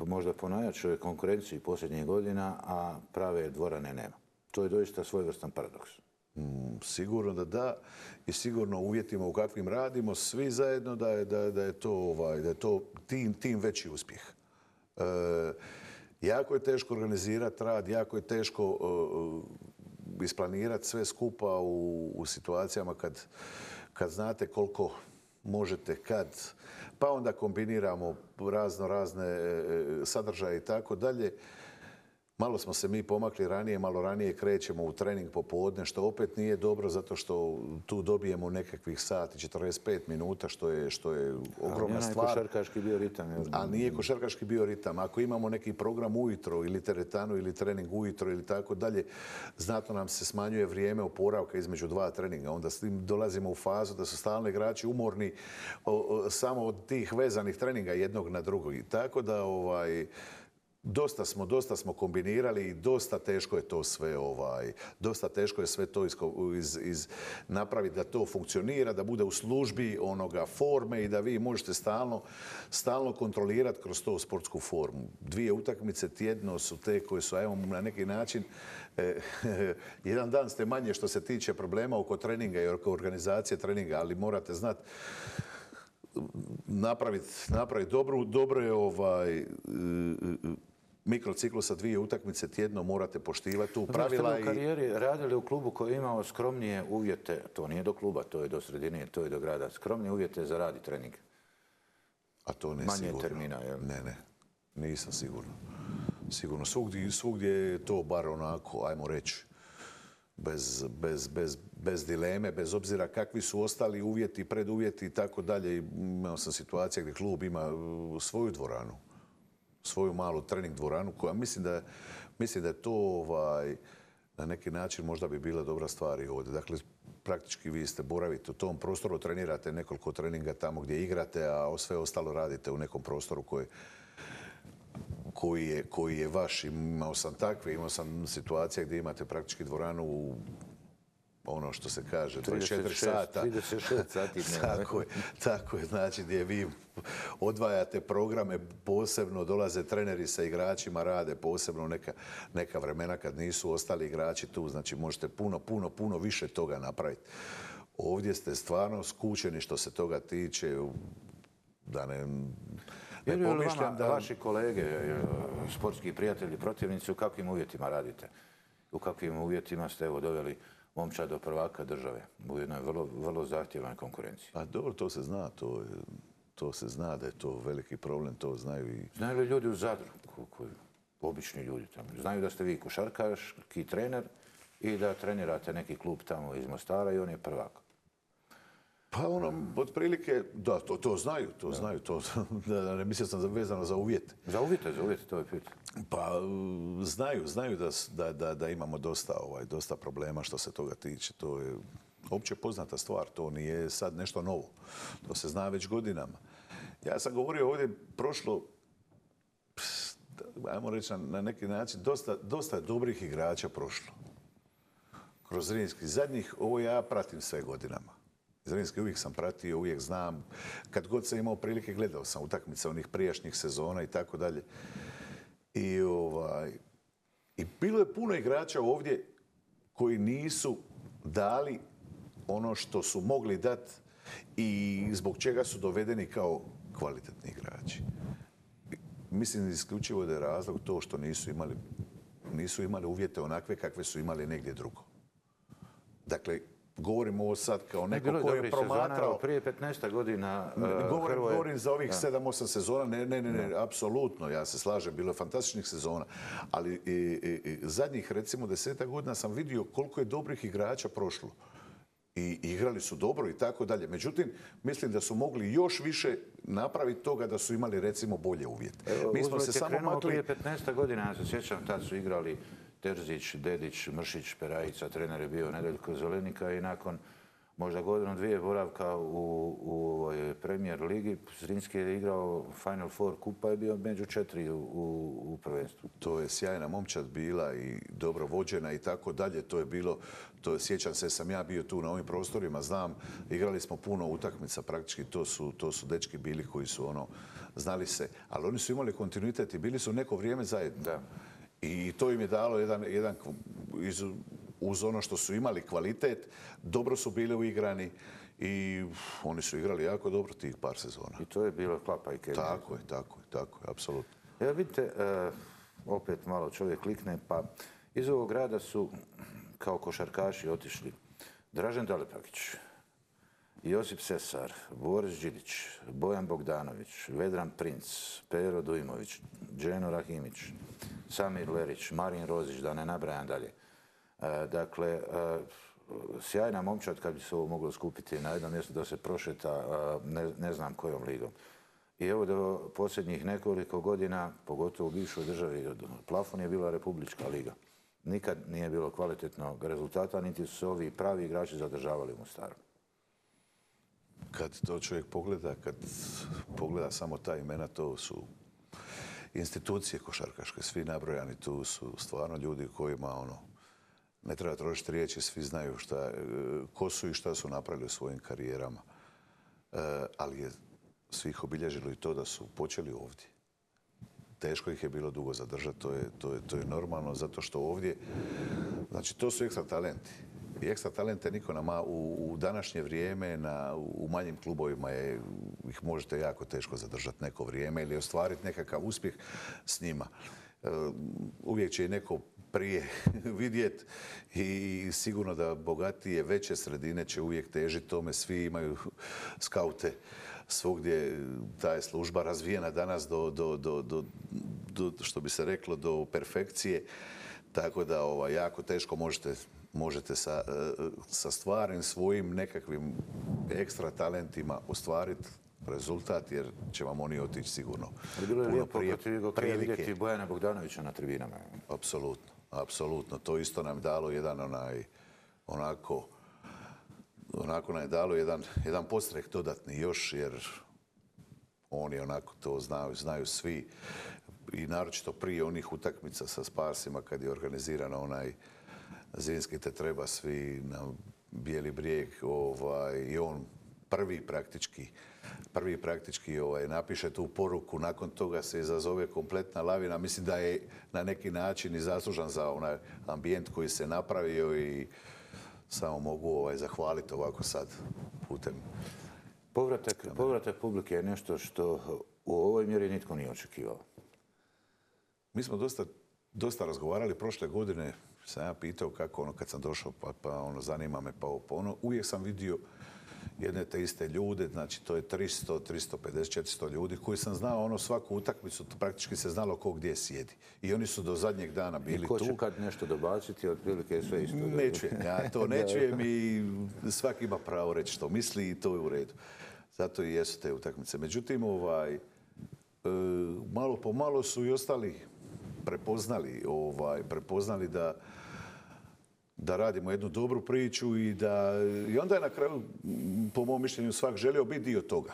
možda po najjačoj konkurenciji posljednjih godina, a prave dvorane nema. To je doista svojevrstan paradoks. Sigurno da i sigurno u uvjetima u kakvim radimo svi zajedno da je to tim veći uspjeh. Jako je teško organizirati rad, jako je teško isplanirati sve skupa u situacijama kad znate koliko možete kad, pa onda kombiniramo razne sadržaje i tako dalje. Malo smo se mi pomakli ranije, malo ranije krećemo u trening popodne, što opet nije dobro zato što tu dobijemo nekakvih sati, 45 minuta, što je ogromna stvar. Košarkaški bioritam. A nije košarkaški bioritam. Ako imamo neki program ujutro ili teretanu ili trening ujutro ili tako dalje, znatno nam se smanjuje vrijeme oporavka između dva treninga. Onda s tim dolazimo u fazu da su stalno igrači umorni samo od tih vezanih treninga jednog na drugog. Tako da dosta smo kombinirali i dosta teško je to sve dosta teško je sve to napraviti da to funkcionira, da bude u službi onoga forme i da vi možete stalno kontrolirati kroz to sportsku formu. 2 utakmice tjedno su te koje su, evo, na neki način jedan dan ste manje što se tiče problema oko treninga i oko organizacije treninga, ali morate znati napraviti dobre mikrociklusa 2 utakmice tjedno, morate poštivati tu pravila. Ste u karijeri radili u klubu koji je imao skromnije uvjete, to nije do kluba, to je do sredine, to je do grada, skromnije uvjete za rad i trening. A to ne manje sigurno. Termina, jel? Ne, nisam sigurno. Sigurno, svugdje je to bar onako, ajmo reći, bez dileme, bez obzira kakvi su ostali uvjeti, preduvjeti i tako dalje. Imao sam situacije gdje klub ima svoju dvoranu, svoju malu trening dvoranu koja mislim da je to na neki način možda bi bila dobra stvar i ovdje. Dakle, praktički vi ste boravite u tom prostoru, trenirate nekoliko treninga tamo gdje igrate, a sve ostalo radite u nekom prostoru koji je vaš. Imao sam situacije gdje imate praktički dvoranu u ono što se kaže 24 sata. 36 sati dnevno. Tako je, znači gdje vi odvajate programe, posebno dolaze treneri sa igračima, rade posebno neka vremena kad nisu ostali igrači tu, znači možete puno više toga napraviti. Ovdje ste stvarno skučeni što se toga tiče, da ne pomišljam da... Vaši kolege, sportski prijatelji, protivnici, u kakvim uvjetima radite? U kakvim uvjetima ste doveli momčad do prvaka države u jednoj vrlo zahtjevnoj konkurenciji? Pa dobro, to se zna, to se zna da je to veliki problem, to znaju i... Znaju li ljudi u Zadru, obični ljudi tamo? Znaju da ste vi košarkaški trener i da trenirate neki klub tamo iz Mostara i on je prvak? Pa otprilike, da, to znaju, ne mislim sam vezano za uvjete. Za uvjete, to je pitanje. Pa znaju da imamo dosta problema što se toga tiče. To je opće poznata stvar, to nije sad nešto novo. To se zna već godinama. Ja sam govorio ovdje prošlo, ajmo reći na neki način, dosta dobrih igrača prošlo. Kroz Zrinski zadnjih, ovo ja pratim sve godinama. Zrinski uvijek sam pratio, uvijek znam. Kad god sam imao prilike, gledao sam utakmice onih prijašnjih sezona i tako dalje. I bilo je puno igrača ovdje koji nisu dali ono što su mogli dati i zbog čega su dovedeni kao kvalitetni igrači. Mislim isključivo da je razlog to što nisu imali uvjete onakve kakve su imali negdje drugo. Dakle, govorim ovo sad kao neko ko je promatrao... Prije 15 godina... Govorim za ovih 7-8 sezona. Ne, apsolutno, ja se slažem, bilo je fantastičnih sezona. Ali zadnjih, recimo, 10 godina sam vidio koliko je dobrih igrača prošlo. I igrali su dobro i tako dalje. Međutim, mislim da su mogli još više napraviti toga da su imali, recimo, bolje uvjete. Mi smo se samo makli... Prije 15 godina, ja se sjećam, tad su igrali Terzić, Dedić, Mršić, Perajica, trener je bio Nedeljko Zelenika i nakon možda godinu, 2 boravka u Premier ligi, Zrinski je igrao Final Four kupa i bio među 4 u prvenstvu. To je sjajna momčad bila i dobro vođena i tako dalje. To je bilo, sjećam se, sam ja bio tu na ovim prostorima, znam, igrali smo puno utakmica, praktički to su dečki bili koji su znali se, ali oni su imali kontinuitet i bili su neko vrijeme zajedno. Da. I to im je dalo jedan uz ono što su imali kvalitet, dobro su bili uigrani i oni su igrali jako dobro tih par sezona. I to je bilo klapa i kemija. Tako je, apsolutno. Evo vidite, opet malo čovjek klikne, pa iz ovog grada su kao košarkaši otišli Dražen Dalipagić, Josip Sesar, Boris Đidić, Bojan Bogdanović, Vedran Princ, Pero Dujmović, Dženo Rahimić, Samir Lerić, Marin Rozić, da ne nabrajam dalje. Dakle, sjajna momčad kad bi se ovo moglo skupiti na jednom mjestu da se prošeta ne znam kojom ligom. I evo do posljednjih nekoliko godina, pogotovo u bivšoj državi, plafon je bila Republička liga. Nikad nije bilo kvalitetnog rezultata, niti su se ovi pravi igrači zadržavali u Mostaru. Kad to čovjek pogleda, kad pogleda samo ta imena, to su institucije košarkaške, svi nabrojani tu su stvarno ljudi kojima ne treba trošiti riječi, svi znaju ko su i šta su napravili u svojim karijerama. Ali je svih obilježilo i to da su počeli ovdje. Teško ih je bilo dugo zadržati, to je normalno, zato što ovdje, znači to su ekstra talenti. I ekstra talente niko nama u današnje vrijeme u manjim klubovima ih možete jako teško zadržati neko vrijeme ili ostvariti nekakav uspjeh s njima. Uvijek će i neko prije vidjeti i sigurno da bogatije, veće sredine će uvijek težiti tome. Svi imaju skaute svugdje, ta je služba razvijena danas što bi se reklo, do perfekcije. Tako da jako teško možete sa stvarnim svojim nekakvim ekstra talentima ostvariti rezultat, jer će vam oni otići sigurno. Bilo je lijepo prije vidjeti Bojana Bogdanovića na tribinama. Apsolutno, apsolutno. To isto nam dalo onako nam je dalo jedan podstrek dodatni još, jer oni onako to znaju svi. I naročito prije onih utakmica sa Sparsima kad je organiziran onaj zimski te treba svi na Bijeli brijeg i on prvi praktički napiše tu poruku, nakon toga se izazove kompletna lavina. Mislim da je na neki način i zaslužan za onaj ambijent koji se napravio i samo mogu zahvaliti ovako sad putem. Povratak publike je nešto što u ovoj mjeri nitko nije očekivao. Mi smo dosta razgovarali prošle godine, sam ja pitao kako kad sam došao, pa zanima me, uvijek sam vidio jedne te iste ljude, znači to je 300, 350, 400 ljudi koji sam znao svaku utakmicu, praktički se znalo ko gdje sjedi. I oni su do zadnjeg dana bili tu. I ko će kad nešto dobaciti, otprilike je sve isto. Ne čujem, ja to ne čujem i svaki ima pravo reći što misli i to je u redu. Zato i jesu te utakmice. Međutim, malo po malo su i ostali prepoznali da radimo jednu dobru priču i onda je na kraju, po mom mišljenju, svak želio biti dio toga.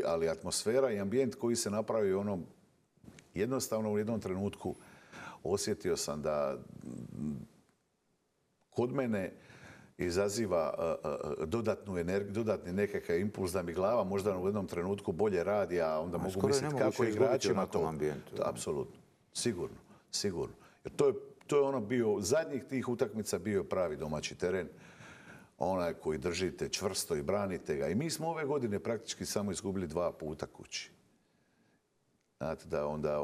Ali atmosfera i ambijent koji se napravi jednostavno u jednom trenutku osjetio sam da kod mene izaziva dodatnu energiju, dodatni nekakav impuls da mi glava možda u jednom trenutku bolje radi, a onda mogu misliti kako igračima to. Apsolutno, sigurno. Jer to je bio, zadnjih tih utakmica bio pravi domaći teren. Onaj koji držite čvrsto i branite ga. I mi smo ove godine praktički samo izgubili 2 puta kući. Znate da onda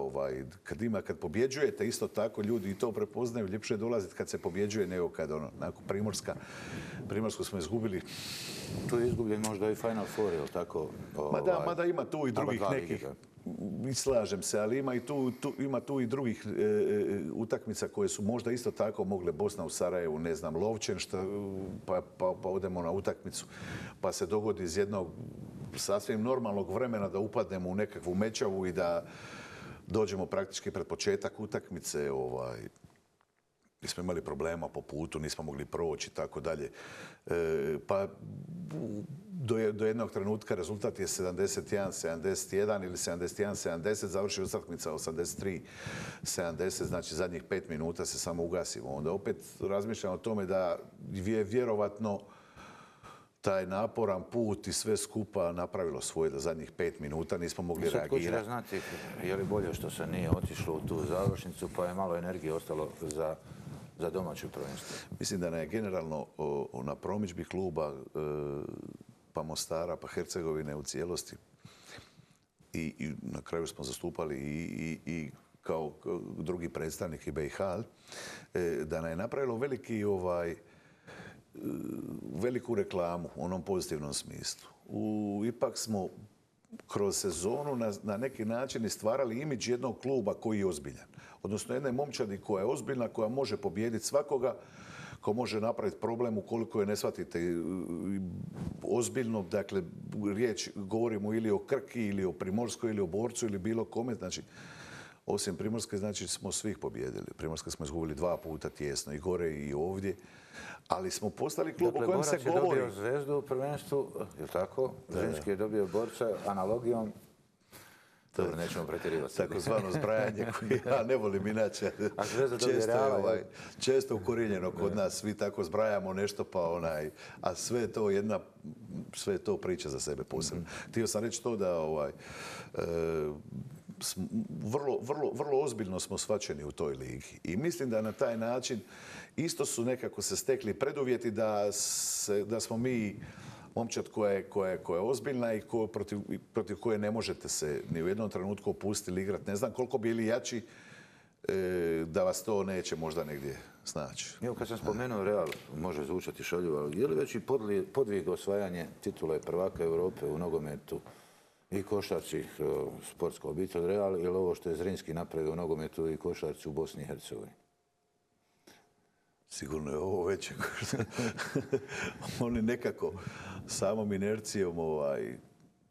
kad pobjeđujete isto tako ljudi i to prepoznaju, ljepše je dolaziti kad se pobjeđuje nego kad Primorsku smo izgubili. Tu je izgubljen možda i Final Four, je li tako? Mada ima tu i drugih nekih. Slažem se, ali ima tu i drugih utakmica koje su možda isto tako mogle. Bosna u Sarajevu, ne znam, Lovćen, pa odemo na utakmicu, pa se dogodi iz jednog sasvim normalnog vremena da upadnemo u nekakvu mečavu i da dođemo praktički pred početak utakmice. Nismo imali problema po putu, nismo mogli proći i tako dalje. Pa do jednog trenutka rezultat je 71-71 ili 71-70, završi utakmica 83-70, znači zadnjih 5 minuta se samo ugasimo. Onda opet razmišljam o tome da je vjerovatno taj naporan put i sve skupa napravilo svoje, da zadnjih 5 minuta nismo mogli reagirati. Sad ko će znati je li bolje što se nije otišlo u tu završnicu, pa je malo energije ostalo za domaće prvenstvo? Mislim da je generalno na promidžbi kluba pa Mostara, pa Hercegovine u cijelosti i na kraju smo zastupali i kao drugi predstavnik i BiH, da nam je napravilo veliku reklamu u onom pozitivnom smislu. Ipak smo kroz sezonu na neki način i stvarali imidž jednog kluba koji je ozbiljan. Odnosno jedne momčadi koja je ozbiljna, koja može pobijediti svakoga, ko može napraviti problem ukoliko je ne shvatite ozbiljno. Dakle, riječ govorimo ili o Krki, ili o Primorskoj, ili o Borcu, ili bilo kome. Znači, osim Primorske, znači smo svih pobijedili. Primorske smo izgubili 2 puta tijesno, i gore i ovdje. Ali smo postali klub o kojem se govori. Dakle, Borac je dobio Zvezdu u prvenstvu, je li tako? Zrinski je dobio Borca analogijom. Dobro, nećemo pretjerivati. Takozvano zbrajanje koje ja ne volim inače. A Zvezda dobije Reala. Često ukorijenjeno kod nas. Svi tako zbrajamo nešto a sve je to priča za sebe posebno. Htio sam reći to da vrlo ozbiljno smo shvaćeni u toj ligi. I mislim da na taj način isto su nekako se stekli preduvjeti da smo mi momčad koja je ozbiljna i protiv koje ne možete se ni u jednom trenutku opustiti igrati. Ne znam koliko bili jači da vas to neće možda negdje snaći. Evo, kad sam spomenuo Real, može zvučati šaljivo, ali je li veći podvig osvajanje titule prvaka Europe u nogometu i košarci, sportska obitelj Real, ili ovo što je Zrinski napravio u nogometu i košarci u Bosni i Hercegovini? Sigurno je ovo veće. Oni nekako samom inercijom,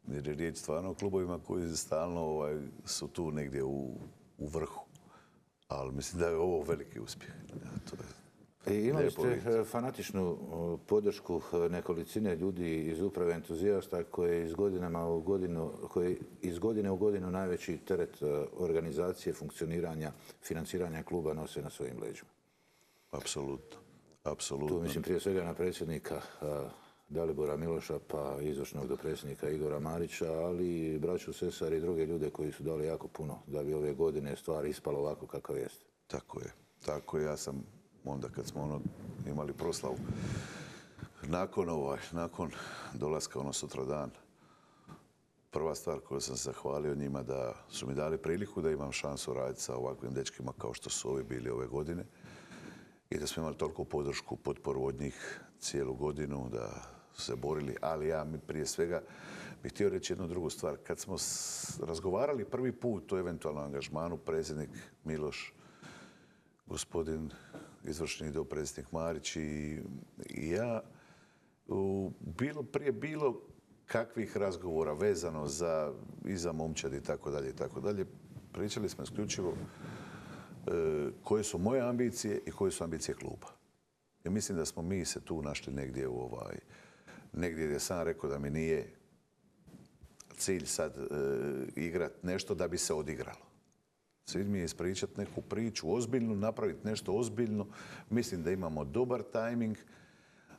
jer je riječ stvarno o klubovima koji stalno su tu negdje u vrhu. Ali mislim da je ovo veliki uspjeh. Imali ste fanatičnu podršku nekolicine ljudi iz uprave entuzijasta koji iz godine u godinu najveći teret organizacije, funkcioniranja, financiranja kluba nose na svojim leđima. Apsolutno. Tu mislim prije svega na predsjednika Dalibora Miloša, pa izvršnog dopredsjednika Igora Marića, ali i braću Sesar i druge ljude koji su dali jako puno da bi ove godine stvar ispala ovako kakav jeste. Tako je. Ja sam onda kad smo imali proslavu nakon dolaska sutradan, prva stvar koju sam se zahvalio njima da su mi dali priliku da imam šansu raditi sa ovakvim dečkima kao što su ovi bili ove godine i da smo imali toliko podršku, potporu od njih cijelu godinu, da su se borili. Ali ja prije svega bih htio reći jednu drugu stvar. Kad smo razgovarali prvi put o eventualnom angažmanu, predsjednik Miloš, gospodin izvršni dopredsjednik Marić i ja, prije bilo kakvih razgovora vezano i za momčad i tako dalje, pričali smo isključivo koje su moje ambicije i koje su ambicije kluba. I mislim da smo mi se tu našli negdje negdje gdje sam rekao da mi nije cilj sad igrat nešto da bi se odigralo. Cilj mi je ispričati neku priču ozbiljnu, napraviti nešto ozbiljno. Mislim da imamo dobar tajming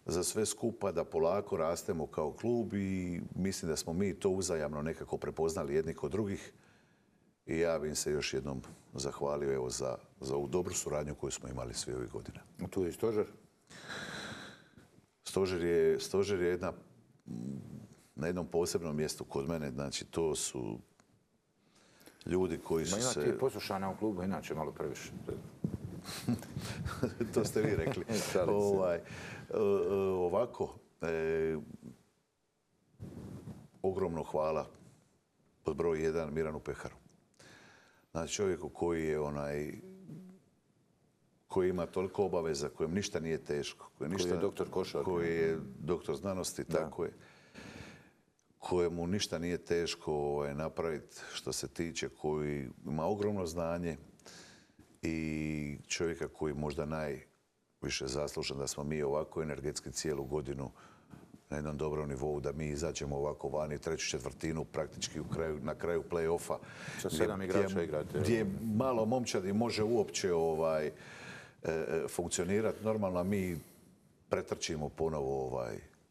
za sve skupa, da polako rastemo kao klub i mislim da smo mi to uzajamno nekako prepoznali jedni kod drugih. I ja bih im se još jednom zahvalio za ovu dobru suradnju koju smo imali sve ovih godina. Tu je i stožer? Stožer je na jednom posebnom mjestu kod mene. Znači, to su ljudi koji su se... Imate poslušana u klubu, inače malo previše. To ste vi rekli. Ovako, ogromno hvala pod broj 1 Miranu Peharu. Znači, čovjeku koji ima toliko obaveza, kojem ništa nije teško. Koji je doktor košarke. Koji je doktor znanosti, tako je. Kojemu ništa nije teško napraviti što se tiče, koji ima ogromno znanje i čovjeka koji možda najviše zaslužan da smo mi ovako energetski cijelu godinu na jednom dobrom nivou, da mi izađemo ovako vani treću četvrtinu praktički na kraju play-offa. Sa 7 igrača igrate. Gdje malo momčadi može uopće funkcionirati normalno, a mi pretrčimo ponovo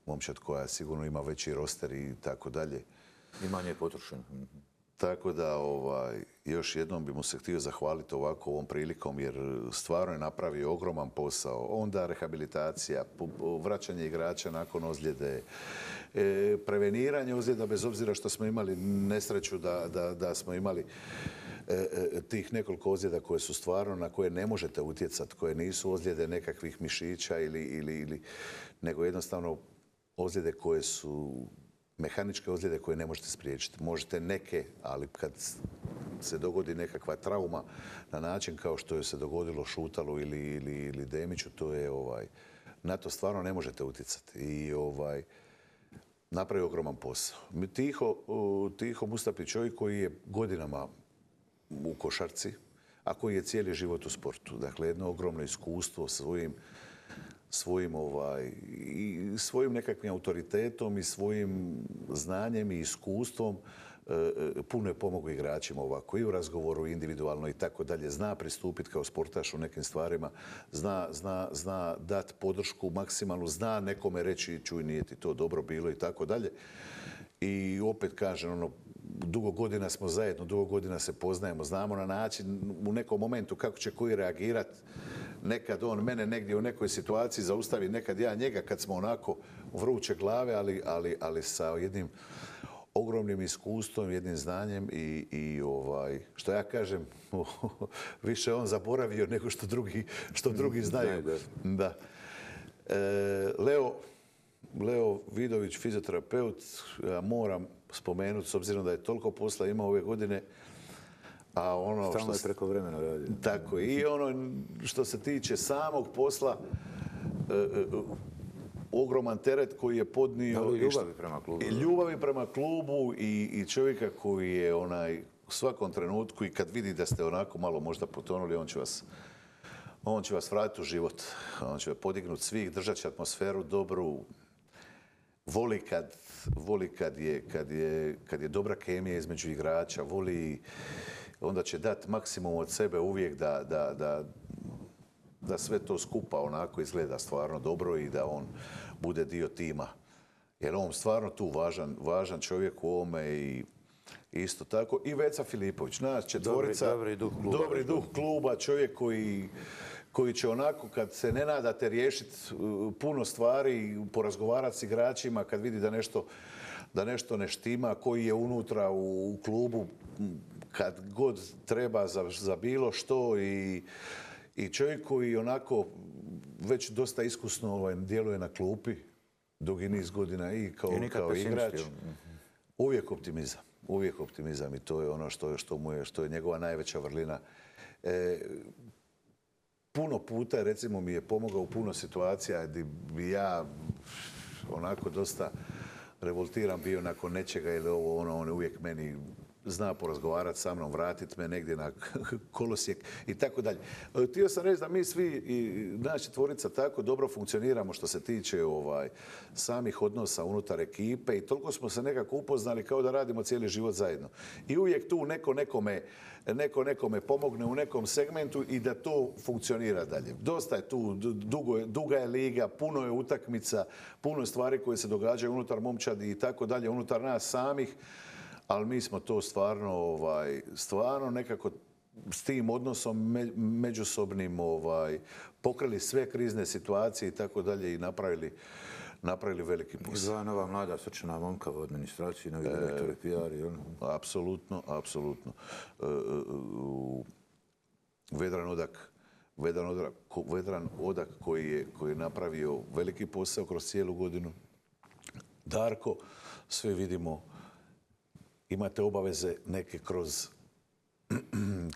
momčad koja sigurno ima veći roster i tako dalje. I manje je potrošen. Tako da još jednom bi mu se htio zahvaliti ovako ovom prilikom jer stvarno je napravio ogroman posao. Onda rehabilitacija, vraćanje igrača nakon ozljede, preveniranje ozljeda bez obzira što smo imali nesreću da smo imali tih nekoliko ozljeda koje su stvarno na koje ne možete utjecati, koje nisu ozljede nekakvih mišića nego jednostavno ozljede koje su mehaničke ozljede koje ne možete spriječiti. Možete neke, ali kad se dogodi nekakva trauma na način kao što je se dogodilo Šutalu ili Demiću, to je na to stvarno ne možete utjecati. I napravi ogroman posao. Tiho Mustapić, čovjek koji je godinama u košarci, a koji je cijeli život u sportu. Dakle, jedno ogromno iskustvo svojim nekakvim autoritetom i svojim znanjem i iskustvom puno je pomogao igračima ovako i u razgovoru individualno i tako dalje. Zna pristupiti kao sportaš u nekim stvarima, zna dati podršku maksimalnu, zna nekome reći čuj nije ti to dobro bilo i tako dalje. I opet kažem, dugo godina smo zajedno, dugo godina se poznajemo, znamo na način u nekom momentu kako će koji reagirati. Nekad on mene negdje u nekoj situaciji zaustavi, nekad ja njega kad smo onako vruće glave, ali sa jednim ogromnim iskustvom, jednim znanjem i što ja kažem, više on zaboravio nego što drugi znaju. Da. Leo Vidović, fizioterapeut, ja moram spomenuti, s obzirom da je toliko posla imao ove godine, a stalno je preko vremena radio. Tako, i što se tiče samog posla, ogroman teret koji je podnio. Ali ljubavi prema klubu. Ljubavi prema klubu i čovjeka koji je u svakom trenutku i kad vidi da ste onako malo možda potonuli, on će vas vratiti u život. On će podignuti svih, držat će atmosferu dobru. Voli kad je dobra kemija između igrača, onda će dati maksimum od sebe uvijek da sve to skupa onako izgleda stvarno dobro i da on bude dio tima. Jer on stvarno tu važan čovjek u ovome i isto tako. I Veca Filipović, nas četvorica, dobri duh kluba, čovjek koji će onako kad se ne nadate riješiti puno stvari, porazgovarati s igračima, kad vidi da nešto ne štima, koji je unutra u klubu, kad god treba za bilo što i čovjek koji onako već dosta iskusno djeluje na klupi dugi niz godina i kao igrač. Uvijek optimizam i to je ono što je njegova najveća vrlina. Puno puta, recimo, mi je pomogao u puno situacija gdje bi ja onako dosta revoltiran bio nakon nečega ili on je uvijek meni zna porazgovarati sa mnom, vratiti me negdje na kolosijek i tako dalje. Htio sam reći da mi svi, naša četvorica, tako dobro funkcioniramo što se tiče samih odnosa unutar ekipe i toliko smo se nekako upoznali kao da radimo cijeli život zajedno. I uvijek tu neko nekome pomogne u nekom segmentu i da to funkcionira dalje. Dosta je tu, duga je liga, puno je utakmica, puno je stvari koje se događaju unutar momčadi i tako dalje, unutar nas samih. Ali mi smo to stvarno nekako s tim odnosom međusobnim pokrili sve krizne situacije i tako dalje i napravili veliki posao. Dva nova mlada srčana momka u administraciji, novi direktori PR. Apsolutno. Vedran Odak koji je napravio veliki posao kroz cijelu godinu. Darko, sve vidimo, imate obaveze neke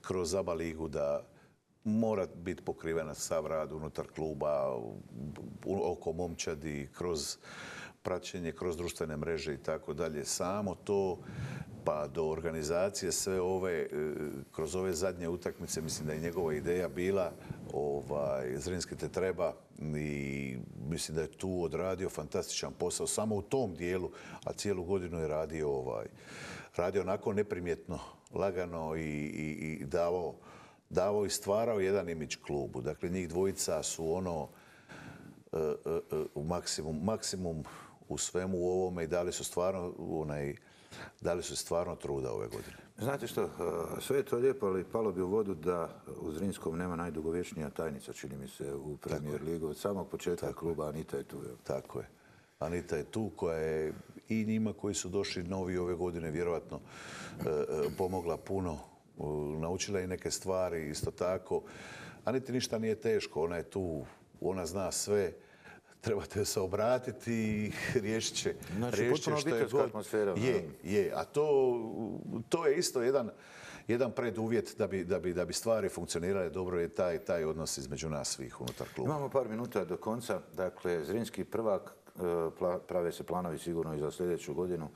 kroz ABA ligu da mora biti pokrivena sav rad unutar kluba, oko momčadi, kroz praćenje, kroz društvene mreže i tako dalje. Samo to pa do organizacije sve kroz ove zadnje utakmice, mislim da je njegova ideja bila Zrinski te treba i mislim da je tu odradio fantastičan posao samo u tom dijelu, a cijelu godinu je radio onako neprimjetno, lagano i davao i stvarao jedan imidž klubu. Dakle, njih dvojica su maksimum u svemu ovome i dali su stvarno truda ove godine. Znate što, sve je to lijepo, ali palo bi u vodu da u Zrinskom nema najdugovječnija tajnica, čini mi se, u Premier ligu. Od samog početka kluba Anita je tu. Tako je. Anita je tu koja je i njima koji su došli novi ove godine vjerojatno pomogla puno. Naučila i neke stvari, isto tako. Aniti ništa nije teško, ona je tu, ona zna sve. trebate se obratiti i riješit će. Znači, riješit će potpuno što je obiteljska god. atmosfera. Je. A to je isto jedan preduvjet da bi stvari funkcionirale dobro, je taj odnos između nas svih unutar kluba. Imamo par minuta do konca. Dakle, Zrinski prvak, prave se planovi sigurno i za sljedeću godinu.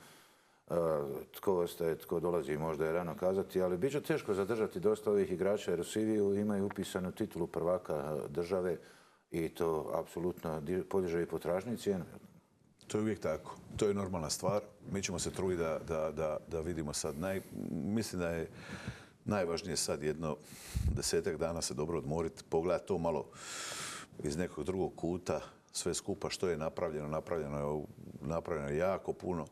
Tko ostaje, tko dolazi, možda je rano kazati, ali bit će teško zadržati dosta ovih igrača jer u CV-u imaju upisanu titulu prvaka države i to apsolutno podiže i potražnju i cijenu. To je uvijek tako. To je normalna stvar. Mi ćemo se truditi da vidimo sad. Mislim da je najvažnije sad jedno 10 dana se dobro odmoriti, pogledati to malo iz nekog drugog kuta, sve skupa što je napravljeno. Napravljeno je jako puno.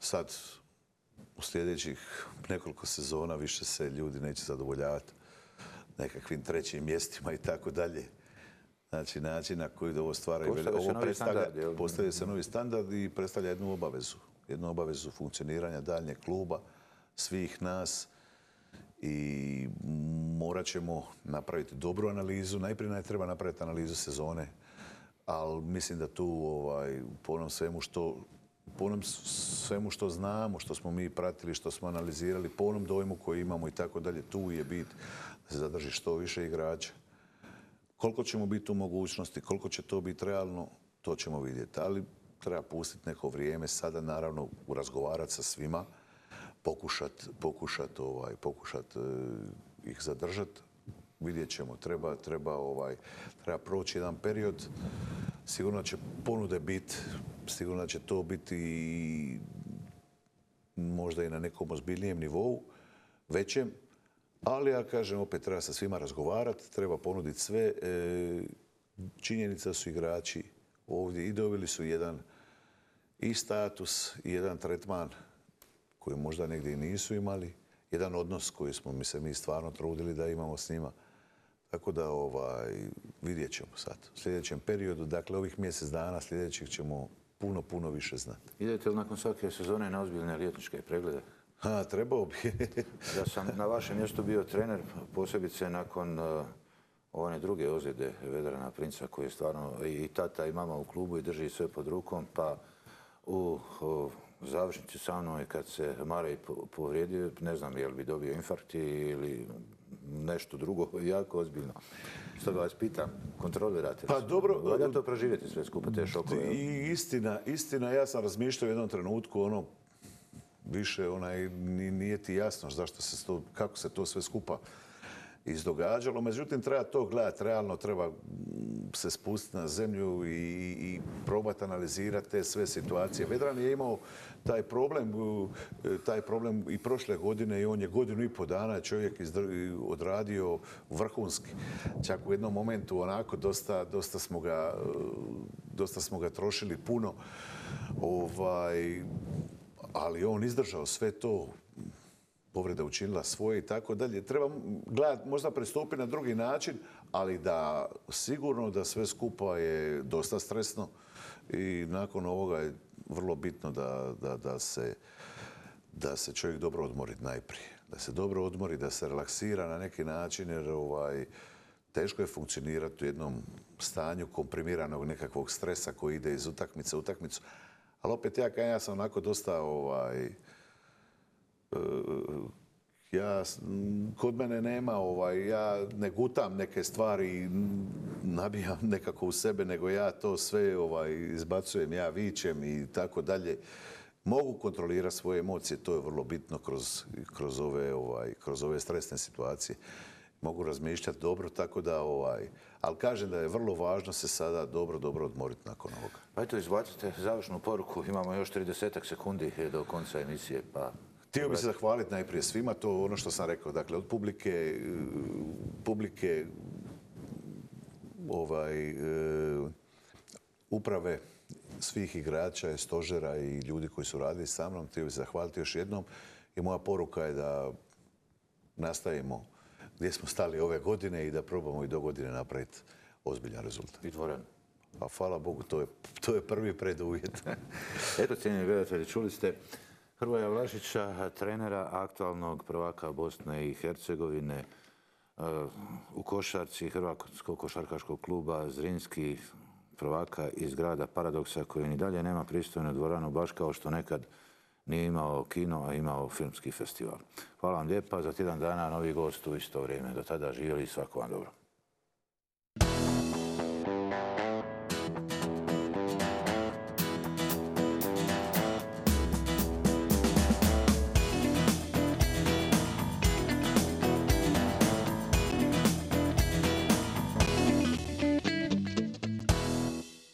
Sad, u sljedećih nekoliko sezona više se ljudi neće zadovoljavati nekakvim trećim mjestima i tako dalje. Znači, način na koji ovo stvara postavlja se novi standard i predstavlja jednu obavezu funkcioniranja daljnjeg kluba, svih nas i morat ćemo napraviti dobru analizu. Najprije treba napraviti analizu sezone, ali mislim da tu po onom svemu što znamo, što smo mi pratili, što smo analizirali, po onom dojmu koji imamo i tako dalje, tu je bit da se zadrži što više igrača. Koliko ćemo biti u mogućnosti, koliko će to biti realno, to ćemo vidjeti. Ali treba pustiti neko vrijeme, sada naravno razgovarati sa svima, pokušati ih zadržati. Vidjet ćemo, treba proći jedan period. Sigurno će ponude biti, sigurno će to biti možda i na nekom ozbiljnijem nivou, većem. Ali ja kažem, opet treba sa svima razgovarati, treba ponuditi sve. Činjenica su igrači ovdje i dobili su jedan i status i jedan tretman koji možda negdje i nisu imali, jedan odnos koji smo mi stvarno trudili da imamo s njima. Tako da vidjet ćemo sad. U sljedećem periodu, dakle ovih mjesec dana sljedećih ćemo puno više znati. Idete li nakon svake sezone na ozbiljne liječničke preglede? Trebao bi. Da sam na vašem mjestu bio trener, posebice nakon one druge ozljede Vedrana Princa, koji je stvarno i tata i mama u klubu i drži sve pod rukom, pa u završnici sa mnom kad se Marej povrijedio, ne znam je li bi dobio infarkt ili nešto drugo jako ozbiljno. Stoga vas pitam, kontrolirate li? Pa dobro. Valja to proživjeti sve skupa, te šokove? I istina, ja sam razmišljao u jednom trenutku, više nije ti jasno kako se to sve skupa izdogađalo. Međutim, treba to gledati realno, treba se spustiti na zemlju i probati analizirati te sve situacije. Vedran je imao taj problem i prošle godine i on je 1,5 godina čovjek odradio vrhunski. Čak u jednom momentu onako dosta smo ga trošili puno. Ali on izdržao sve to, povreda učinila svoje i tako dalje. Treba gledati, možda pristupiti na drugi način, ali sigurno da sve skupa je dosta stresno i nakon ovoga je vrlo bitno da se čovjek dobro odmori najprije. Da se dobro odmori, da se relaksira na neki način, jer teško je funkcionirati u jednom stanju komprimiranog nekakvog stresa koji ide iz utakmice u utakmicu. Ali opet ja sam onako dosta, kod mene nema, ja ne gutam neke stvari, nabijam nekako u sebe, nego ja to sve izbacujem, ja vičem i tako dalje. Mogu kontrolirati svoje emocije, to je vrlo bitno kroz ove stresne situacije. Mogu razmišljati dobro, tako da ali kažem da je vrlo važno se sada dobro odmoriti nakon ovoga. Pa eto, izbacite završnu poruku. Imamo još 30 sekundi do konca emisije. Htio bih se zahvaliti najprije svima, to je ono što sam rekao. Dakle, od publike uprave, svih igrača, stožera i ljudi koji su radili sa mnom. Htio bih se zahvaliti još jednom i moja poruka je da nastavimo gdje smo stali ove godine i da probamo i do godine napraviti ozbiljan rezultat. I dvoranu. Pa hvala Bogu, to je prvi preduvjet. Eto, cijenjeni gledatelji, čuli ste Hrvoja Vlašića, trenera aktualnog prvaka Bosne i Hercegovine u košarci Hrvatskog košarkaškog kluba Zrinski, prvaka iz grada Paradoksa koji ni dalje nema pristojnu dvoranu, baš kao što nekad nije imao kino, a imao filmski festival. Hvala vam lijepa. Za tjedan dana novi gost u isto vrijeme. Do tada živjeli i svako vam dobro.